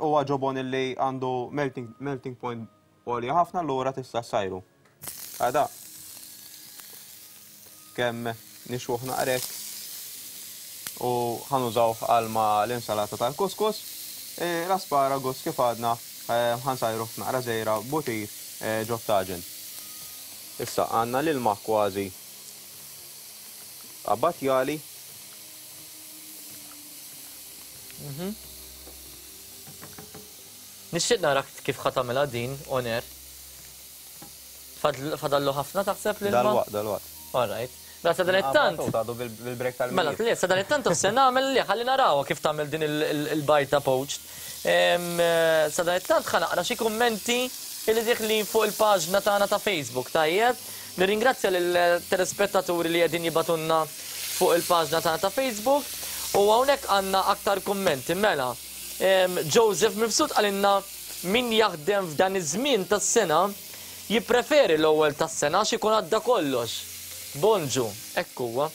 huwa ġobon illi għandu melting point għolja ħafna allura tista' ssajru. Għada kemm nixwuh naqrek u ħanużawh għal ma' l-insalata tal-kuskus. L-asparagus kif għadna ħansajru f'naqra żejra butir ġo taġen. Issa għandna l-ilma kważi abbatjali. Nixtieq narak kif ħa tagħmilha din on air. Fadallu ħafna taħseb l-ilma? Dalwaqt, dalwaqt. All right. Mela sa dan it-tant. Mela le, sa dan it-tant se nagħmel li ħalli narawha kif tagħmel din il-bajta poached. Sa dan it-tant ħa naqra xi kummenti li diħli fuq il-paġna tagħna ta' Facebook, tajjeb. Nirringrazzja lill-telespettaturi li qegħdin jibatunna fuq il-paġna tagħna ta' Facebook u hawnhekk għandna aktar kummenti. Mela, Joseph Mifsud qalilna min jaħdem f'dan iż-żmien tas-sena jippreferi l-ewwel tas-sena għax ikun għadda kollox. Bonġu, hekk huwa.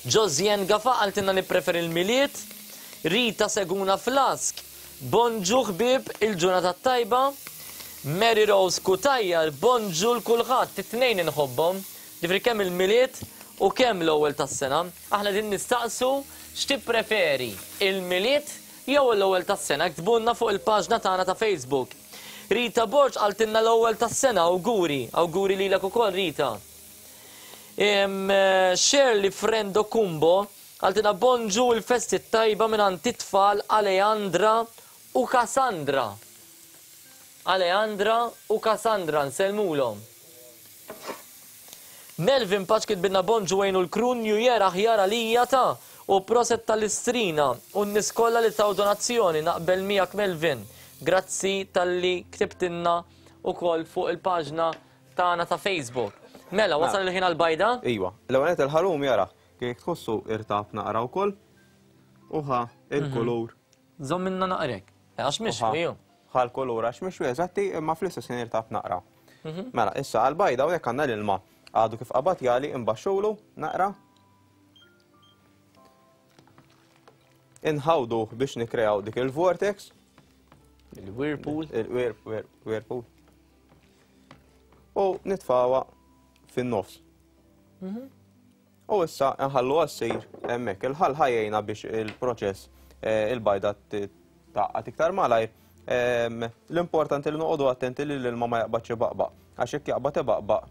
Josien Gafa qaltilna nippreferi l-Milied, Rita Seguna Flask, bonġu ħbieb il-ġurnata tajba, Mary Rose Kutajjar, bonġu l-kulħadd, it-tnejn inħobbhom, ġifri kemm il-Milied u kemm l-ewwel tas-sena. Aħna din nistaqsu x'tippreferi, il-Milied jew l-ewwel tas-sena, ktbulna fuq il-paġna tagħna ta' Facebook. Rita Borg qaltilna l-ewwel tas-sena, awguri, awguri lilek ukoll Rita. Shirley Frendo Kumbo qaltilna bonġu l-festi tajba minn għand it-tfal Aleandra u Cassandra. Aleandra u Cassandra nsellmulhom. Melvin Paċ kitbilna bonġu għejnu l-krun New Year aħjar għalija ta' u proset tal-istrina u n-nies kollha li taw donazzjoni naqbel miegħek Melvin. Grazzi talli ktibtilna ukoll fuq il-paġna tagħna ta' Facebook. Mela, wasal il-ħin għal-bajda? Iwa, l-ewwel nett il-ħalum jara, kif tħossu irtab naqra wkoll u ħa il-kulur. Żomm minna naqrek. Għax mixwi ju. Ħa l-kulur għax mixwi eżatti, imma fl-istess ħin irtab naqra. Mela, issa għal-bajda u jekk għandna l-ilma għadu kif qabad jali imbaxxulu naqra. Inħawdu biex nikreaw dik il-vortex. Il-whirlpool. Il-whirlpool. U nitfawa fin-nofs. U issa nħallu għassir hemmhekk. Il-ħall ħajjejna biex il-proċess il-bajda taqqat iktar malajr. L-importanti li noqogħdu attenti li l-ilma ma jaqbadx ibaqbaq. Għax jekk jaqbad ibaqbaq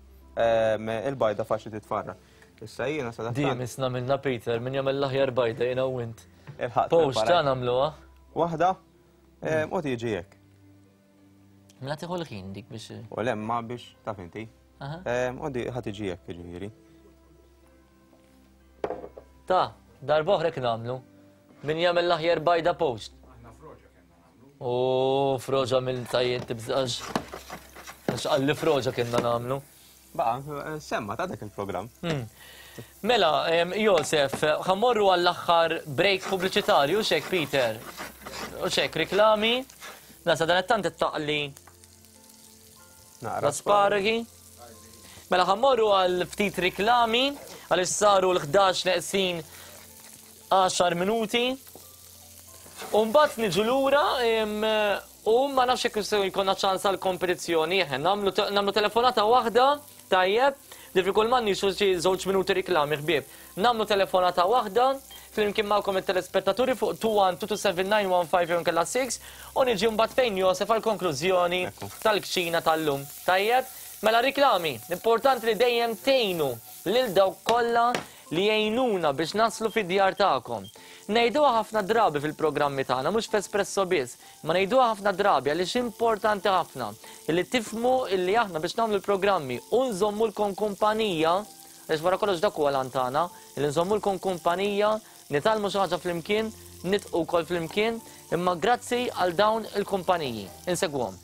il-bajda faċli titfarra. Issa jiena sa Dejjem isna minna Peter, min jagħmel l-aħjar bajda jiena u int. Post ta' nagħmluha. Waħda u tiġi hekk. Mela tieħu l-ħin dik biex. U lemma biex taf inti. U di ħa tiġi hekk jiġifieri. Ta' darba oħra kien nagħmlu. Min jagħmel l-aħjar bajda post. Aħna froġa kellna nagħmlu. U froġa mill tajjeb tibżax. Għax qalli froġa kienna nagħmlu. Baqa, semma ta' dak il-programm. Mela, Josef, ħammorru għall-aħħar break pubbliċitarju, xek Peter. U xek reklami. Nasa dan it-tant it-taqli l-asparagi. Mela ħammorru għal ftit reklami għaliex saru l-ħdax neqsin għaxar minuti. U mbagħad niġu lura u ma nafx jekk se jkollna ċans għal kompetizzjoni, nagħmlu telefonata waħda tajjeb, li fi kull man nixu xi żewġ minuti reklami ħbieb. Nagħmlu telefonata waħda flimkien magħkom it-telespettaturi fuq two one two two seven nine one five jew inkella six u niġi mbagħad fejn Josef għall-konklużjoni tal-kċina tal-lum. Tajjeb? Mela riklami, importanti li dejjem tgħinu lil dawk kollha li jgħinuna biex naslu fid-djar tagħkom. Ngħiduha ħafna drabi fil-programmi tagħna, mhux f'Espresso biss, ma ngħiduha ħafna drabi għaliex importanti ħafna li tifhmu illi aħna biex nagħmlu l-programmi u nżommulkom kumpanija, għaliex wara kollox dak huwa l-għan tagħna, illi nżommulkom kumpanija, nitgħallmu xi ħaġa flimkien, nitqu wkoll flimkien, imma grazzi għal dawn il-kumpaniji. Insegwhom.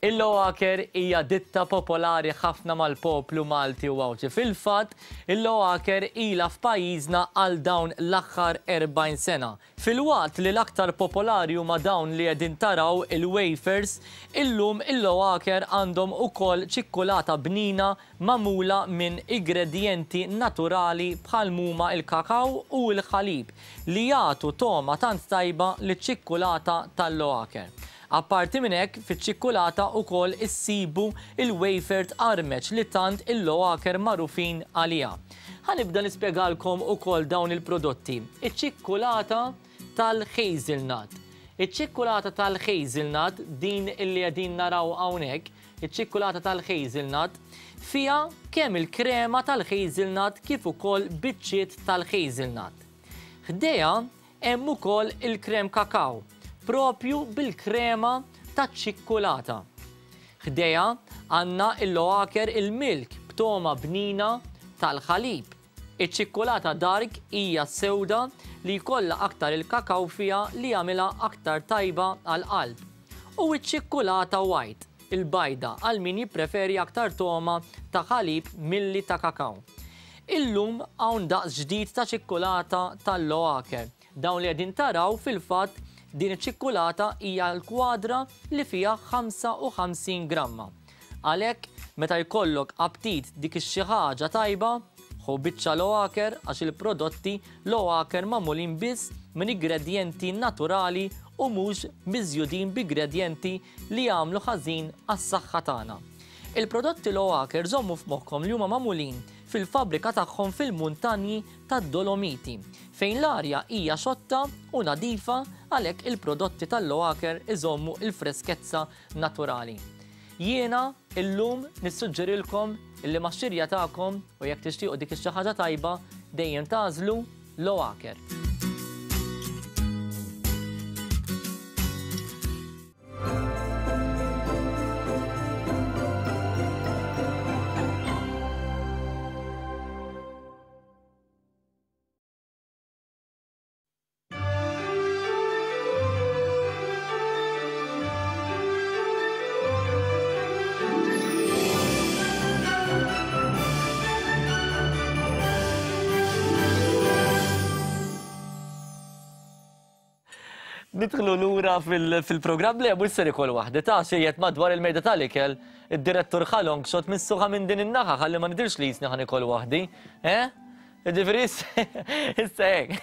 Il-Loacker hija ditta popolari ħafna mal-poplu Malti u Għawdxi. Fil-fatt, il-Loacker ilha f'pajjiżna għal dawn l-aħħar erbgħin sena. Filwaqt li l-aktar popolari huma dawn li qegħdin taraw il-wafers, illum il-Loacker għandhom ukoll ċikkulata bnina magħmula minn ingredjenti naturali bħal huma il-kakaw u l-ħalib li jagħtu togħma tant tajba liċ-ċikkulata tal-Loacker. Apparti minn hekk, fiċ-ċikkulata wkoll issibu il-wafer tqarmeċ li tant il-Loacker magħrufin għaliha. Ħanibda nispjegalkom ukoll dawn il-prodotti. Iċ-ċikkulata tal-hazelnut. Iċ-ċikkulata tal-hazelnut, din illi qegħdin naraw hawnhekk, iċ-ċikkulata tal-hazelnut fiha kemm il-krema tal-hazelnut kif ukoll biċċiet tal-hazelnut. Ħdejha hemm ukoll il-krem kakaw, propju bil-krema taċ-ċikkulata. Ħdejha għandna il-Loacker il-milk b'toma bnina tal-ħalib. Iċ-ċikkulata dark hija sewda li jkollha aktar il-kakaw fiha li jagħmilha aktar tajba għall-qalb. U iċ-ċikkulata white, il-bajda, għal min jippreferi aktar toma ta' ħalib milli ta' kakaw. Illum hawn daqs ġdid ta' ċikkulata tal-Loacker. Dawn li qegħdin taraw fil-fatt din iċ-ċikkulata hija l-kwadra li fiha ħamsa u ħamsin gramma. Għalhekk meta jkollok aptit dik ix-xi ħaġa tajba, ħu biċċa Loacker għax il-prodotti Loacker magħmulin biss minn ingredjenti naturali u mhux miżjudin b'ingredjenti li jagħmlu ħażin għas-saħħa tagħna. Il-prodotti Loacker żommu f'moħħkom li huma magħmulin fil-fabbrika tagħhom fil-muntanji tad-Dolomiti, fejn l-arja hija xotta u nadifa, għalhekk il-prodotti tal-Loacker iżommu il-freskezza naturali. Jiena illum nissuġġerilkom illi max-xirja tagħkom u jekk tixtiequ dik ix-xi ħaġa tajba dejjem tagħżlu Loacker. Nidħlu lura fil-programm li mhux ser ikoll waħda ta' xejjed madwar il-mejda tal-ikel, id-direttur ħalong xot missuħa minn din in-naħa ħalli ma nidirx li jisni ħan ikoll waħdi. Eh? Ġifieri issa hekk.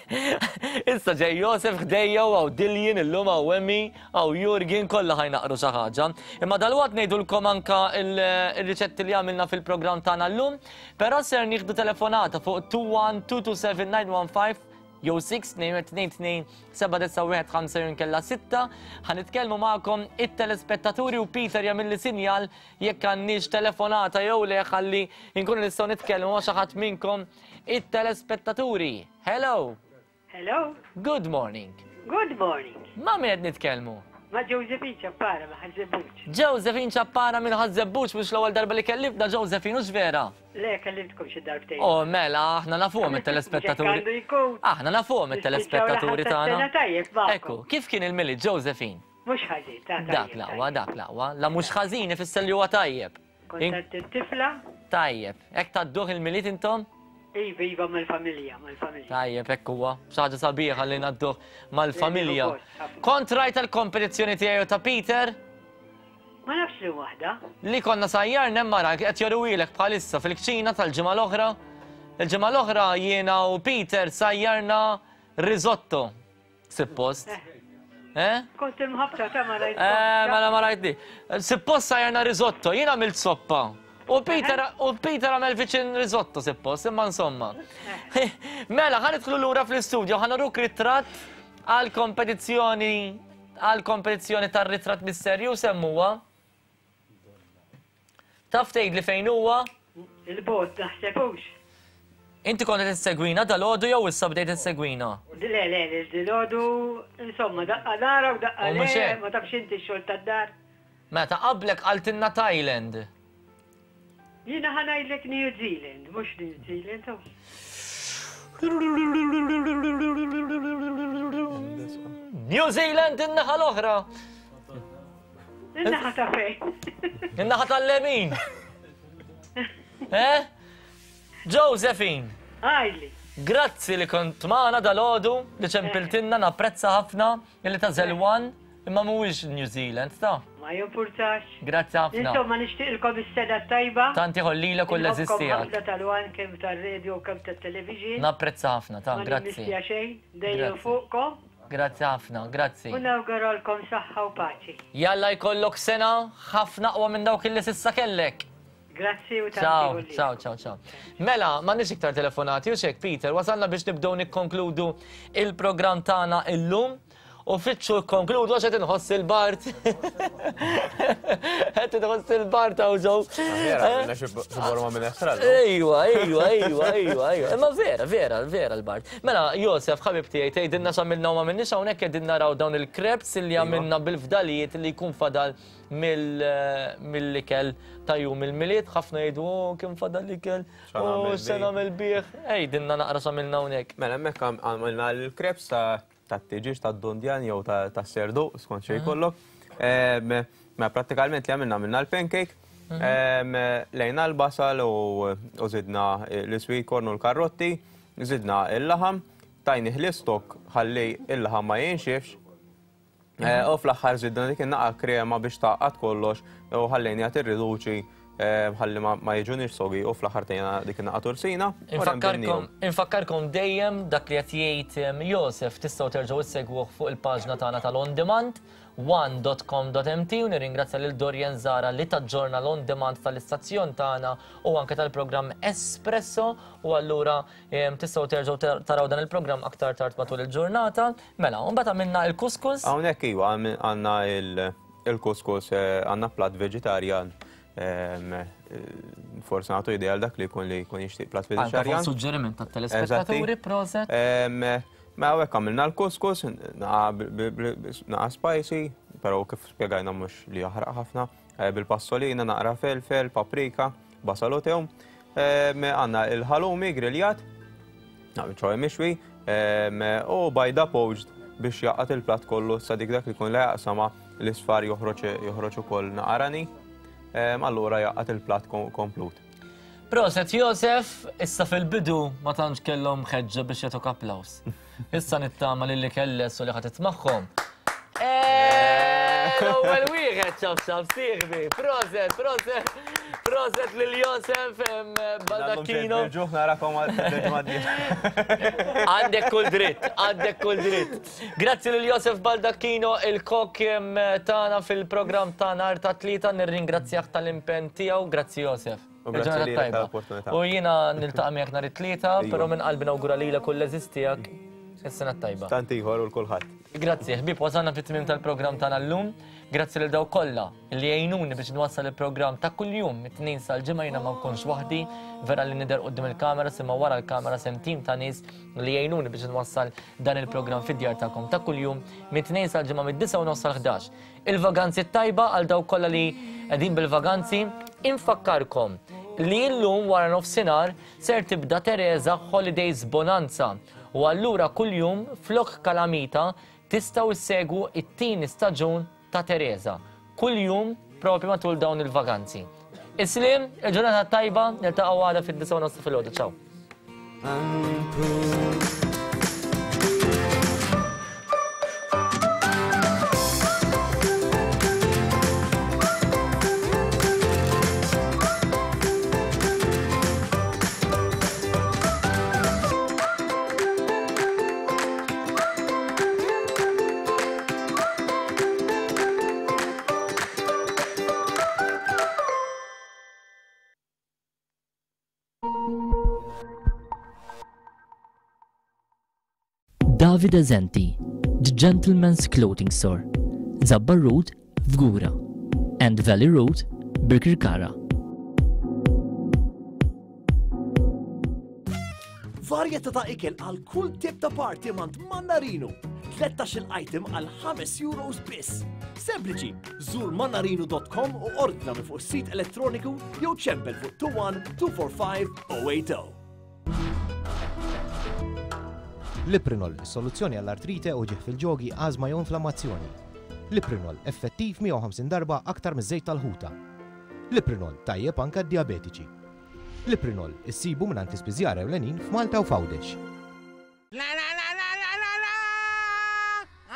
Issa ġej Josef ħdejja u hawn Diljen illum hawn Emmy, hawn Jurgen kollha ħajnaqru xi ħaġa. Imma dalwaqt ngħidulkom anka il-riċetti li għamilna fil-programm tagħna llum, però ser nieħdu telefonata fuq two one two two seven nine one five jew six tnejn tnejn tnejn seba' disa' wieħed ħamsa jew inkella sitta. Ħa nitkellmu magħkom it-telespettaturi u Peter jagħmilli sinjal jekk għandniex telefonata jew le ħalli nkunu nistgħu nitkellmu ma' xi ħadd minnkom it-telespettaturi. Hello. Hello. Good morning. Good morning. Ma' min qed nitkellmu? Ma' Josephine Ċappara ma' Ħaż-Żebbuġ. Josephine Ċappara minn Ħaż-Żebbuġ, mhux l-ewwel darba li kellibna Josephine, hux vera? Le, kellimtkom xi darbtejn. Oh, mela, aħna nafuhom it-telespettaturi. Għandu jkun. Aħna nafuhom it-telespettaturi tagħna. Sena tajjeb magħkom. Ekku, kif kien il-Milied, Josephine? Mhux ħażin, ta' tajjeb. Dak l-aqwa, dak l-aqwa. La mhux ħażin ifisser li huwa tajjeb. Kontant it-tifla. Tajjeb. Hekk tgħadduh il-Milied intom? Iva, iva, mal-familja, mal-familja. Tajjeb, hekk huwa. Xi ħaġa sabiħa li ngħadduh mal-familja. Kont rajt il-kompetizzjoni tiegħi u ta' Peter? Ma nafx li waħda. Li konna sajjarna hemm mara qed joruwilek bħalissa fil-kċina tal-ġimgħa l-oħra. Il-ġimgħa l-oħra jiena u Peter sajjarna risotto. Suppost. Eh? Kont imħabta ta' ma rajt. Eh, mela ma rajtni. Suppost sajjarna risotto, jiena għamilt soppa. U Peter u Peter għamel viċin risotto suppost, imma insomma. Mela, ħa nidħlu lura fl-istudio, ħa nuruk ritratt għal kompetizzjoni għal kompetizzjoni tar-ritratt misterju semmuha. Taf tgħid li fejn huwa? Il-bot naħsebux. Inti kont qed issegwina dalgħodu jew issa bdejt issegwina? Le, le, le, dil-għodu, insomma, daqqa nara u daqqa U mhux le, hekk. ma tafx inti x-xogħol tad-dar. Meta qablek qaltilna Thailand. Jiena ħa ngħidlek New Zealand, mhux New Zealand. oh. New Zealand in-naħa l-oħra. In-naħa ta' fejn. In-naħa tal-lemin. Eh? Josephine. Għajli. Grazzi li kont magħna dalgħodu li ċempiltilna napprezza ħafna illi ta' Zelwan imma mhuwiex New Zealand ta'. Ma jimpurtax. Grazzi ħafna. Insomma, nixtieqilkom is-sena tajba. Tanti ħollilek u l-eżiż Inħobbkom tiegħek. ħafna tal-wan kemm tar-radio u kemm tat-television. Napprezza ħafna ta' Ma grazzi. nimmissja xejn, dejjem Grazzi. fuqkom. Grazzi ħafna, grazzi. U nawguralkom saħħa u paċi. Jalla jkollok sena ħafna aqwa minn dawk illi s'issa kellek. Grazzi u tanti Ciao, ħollilek. ciao, ciao, ciao. Mela, m'għandniex iktar telefonati u xek, Peter, wasalna biex nibdew nikkonkludu il-programm tagħna illum. U fitxu konkludu għax qed inħoss il-Bart. Qed inħoss il-Bart hawn ġew. Vera, għamilna xi borma minn estrad. Ejwa, ejwa, ejwa, ejwa, ejwa. Imma vera, vera, vera l-Bart. Mela, Josef, ħabib tiegħi, tgħidilna x'għamilna u ma minniex hawnhekk qegħdin naraw dawn il-crepes li għamilna bil-fdalijiet li jkun fadal mill-ikel ta' jum il-Milied, ħafna jgħidu, oh, kien fadal ikel, oh, x'se nagħmel bih. Għidilna naqra x'għamilna hawnhekk. Mela, hemmhekk għamilna l-crepes ta' tat-tiġieġ, tad-dundjan jew tas-serdu, skont xejn jkollok. Ma prattikament li għamilna għamilna l-pancake, lejna l-basal u zidna l-sweet corn u l-karrotti, zidna il-laħam, tajnih l-istok ħalli il-laħam ma jinxifx. U fl-aħħar zidna dik in-naqa krema biex tgħaqqad kollox u ħallejniha tirriduċi ħalli ma jiġunix sogi u fl-aħħar tajna dik in-naqa tursina. Infakkarkom, infakkarkom dejjem dak li qed jgħid Josef tistgħu terġgħu issegwuh fuq il-paġna tagħna tal-On Demand one dot com dot m t u nirringrazzja lil Dorian Zara li taġġorna l-On Demand tal-istazzjon tagħna u anke tal-programm Espresso u allura tistgħu terġgħu taraw dan il-programm aktar tard matul il-ġurnata. Mela, u mbagħad għamilna l-kuskus. Hawnhekk iva għandna il-kuskus, għandna plat veġitarjan. Forse nagħtu idea għal dak li jkun li jkun jixtieq plat veġitarjan. Anke suġġeriment tat-telespettaturi, proset. Ma hawnhekk għamilna l-kuskus, naqa spicy, però kif spjegajna mhux li jaħraq ħafna, bil-passolina, naqra felfel, paprika, basal u tewm. Għandna il-halloumi griljat, ċoħe mixwi, u bajda poached biex jaqgħad il-plat kollu sa dik dak li jkun la jaqsama l-isfar joħroġ ukoll naqarani. Allura jaqgħad il-plat komplut. Proset Josef, issa fil-bidu ma tantx kellhom ħeġġa biex jagħtuk applaws. Issa nittama lil li kelles u li ħadd magħhom. L-ewwel wieħed ċaf ċaf sieħbi. Proset, proset, proset lil Josef Baldacchino. Ġuħ narakom għal Għandek kull dritt, għandek kull dritt. Grazzi lil Josef Baldacchino, il-kok tagħna fil-programm ta' nhar ta' tlieta, nirringrazzjah tal-impenn tiegħu. Grazzi Josef. U grazzi lilek tal-opportunità. U jiena niltaqa' miegħek nhar it-tlieta, però minn qalbi nawgura lilek u l-eżiż tiegħek is-sena t-tajba. Tant ieħor u l-kulħadd. Grazzi, ħbieb, wasalna fit-tmiem tal-programm tagħna llum. Grazzi lil dawk kollha li jgħinuni biex nwassal il-programm ta' kuljum mit-tnejn sal-ġimgħa jiena ma nkunx waħdi, vera li nidher quddiem il-kamera imma wara l-kamera sem tim ta' nies li jgħinuni biex nwassal dan il-programm fid-djar tagħkom ta' kuljum mit-tnejn sal-ġimgħa mid-disgħa u nofs sal-ħdax. Il-vaganzi t-tajba għal dawk kollha li qegħdin bil-vaganzi, infakkarkom li llum wara nofsinhar ser tibda Teresa Holidays Bonanza u allura kuljum flok kalamita tistgħu issegwu it-tieni staġun ta' Teresa. Kuljum propju matul dawn il-vaganzi. Islim, il-ġurnata tajba, niltaqgħu għada fid-disgħa u nofs filgħodu. Ciao. Davide Zenti, The Gentleman's Clothing Store, Zabbar Road, Fgura, and Valley Road, Birkirkara. Varjetà ta' ikel għal kull tip ta' party mant Mannarino. tlettax-il item għal ħames euros biss. Sempliċi, żur mannarino dot com u ordna minn fuq is-sit elettroniku jew ċempel fuq two one two four five zero eight zero. Liprinol, soluzzjoni għall-artrite u uġigħ fil-ġogi, ażma jew inflammazzjoni. Liprinol, effettiv mija u ħamsin darba aktar miż-żejt tal-ħuta. Liprinol, tajjeb anka diabetiċi. Liprinol, issibu minn l-ispiżjara ewlenin f'Malta u f'Għawdex. La la la la la la la!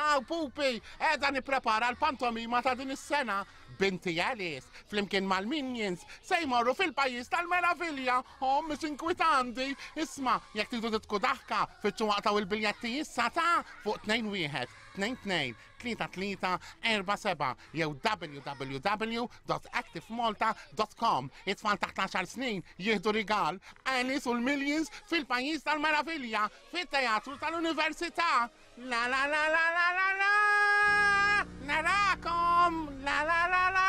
Aw, pupi, qiegħda nipprepara l-pantomima ta' din is-sena. Binti Alice, flimkien mal-Minions, se jmorru fil-pajjiż tal-meravilja. Oh, mhux inkwitanti. Isma', jekk tridu tidħku daħka, fittxu aqtgħu il-biljetti issa ta' fuq tnejn wieħed, tnejn tnejn, tlieta tlieta, erba' seba' jew w w w dot activemalta dot com. It-tfal taħt għaxar snin jieħdu rigal. Alice u l-Minions fil-pajjiż tal-meravilja, fit-teatru tal-Università. La la la la la la la! Narakom! La la la la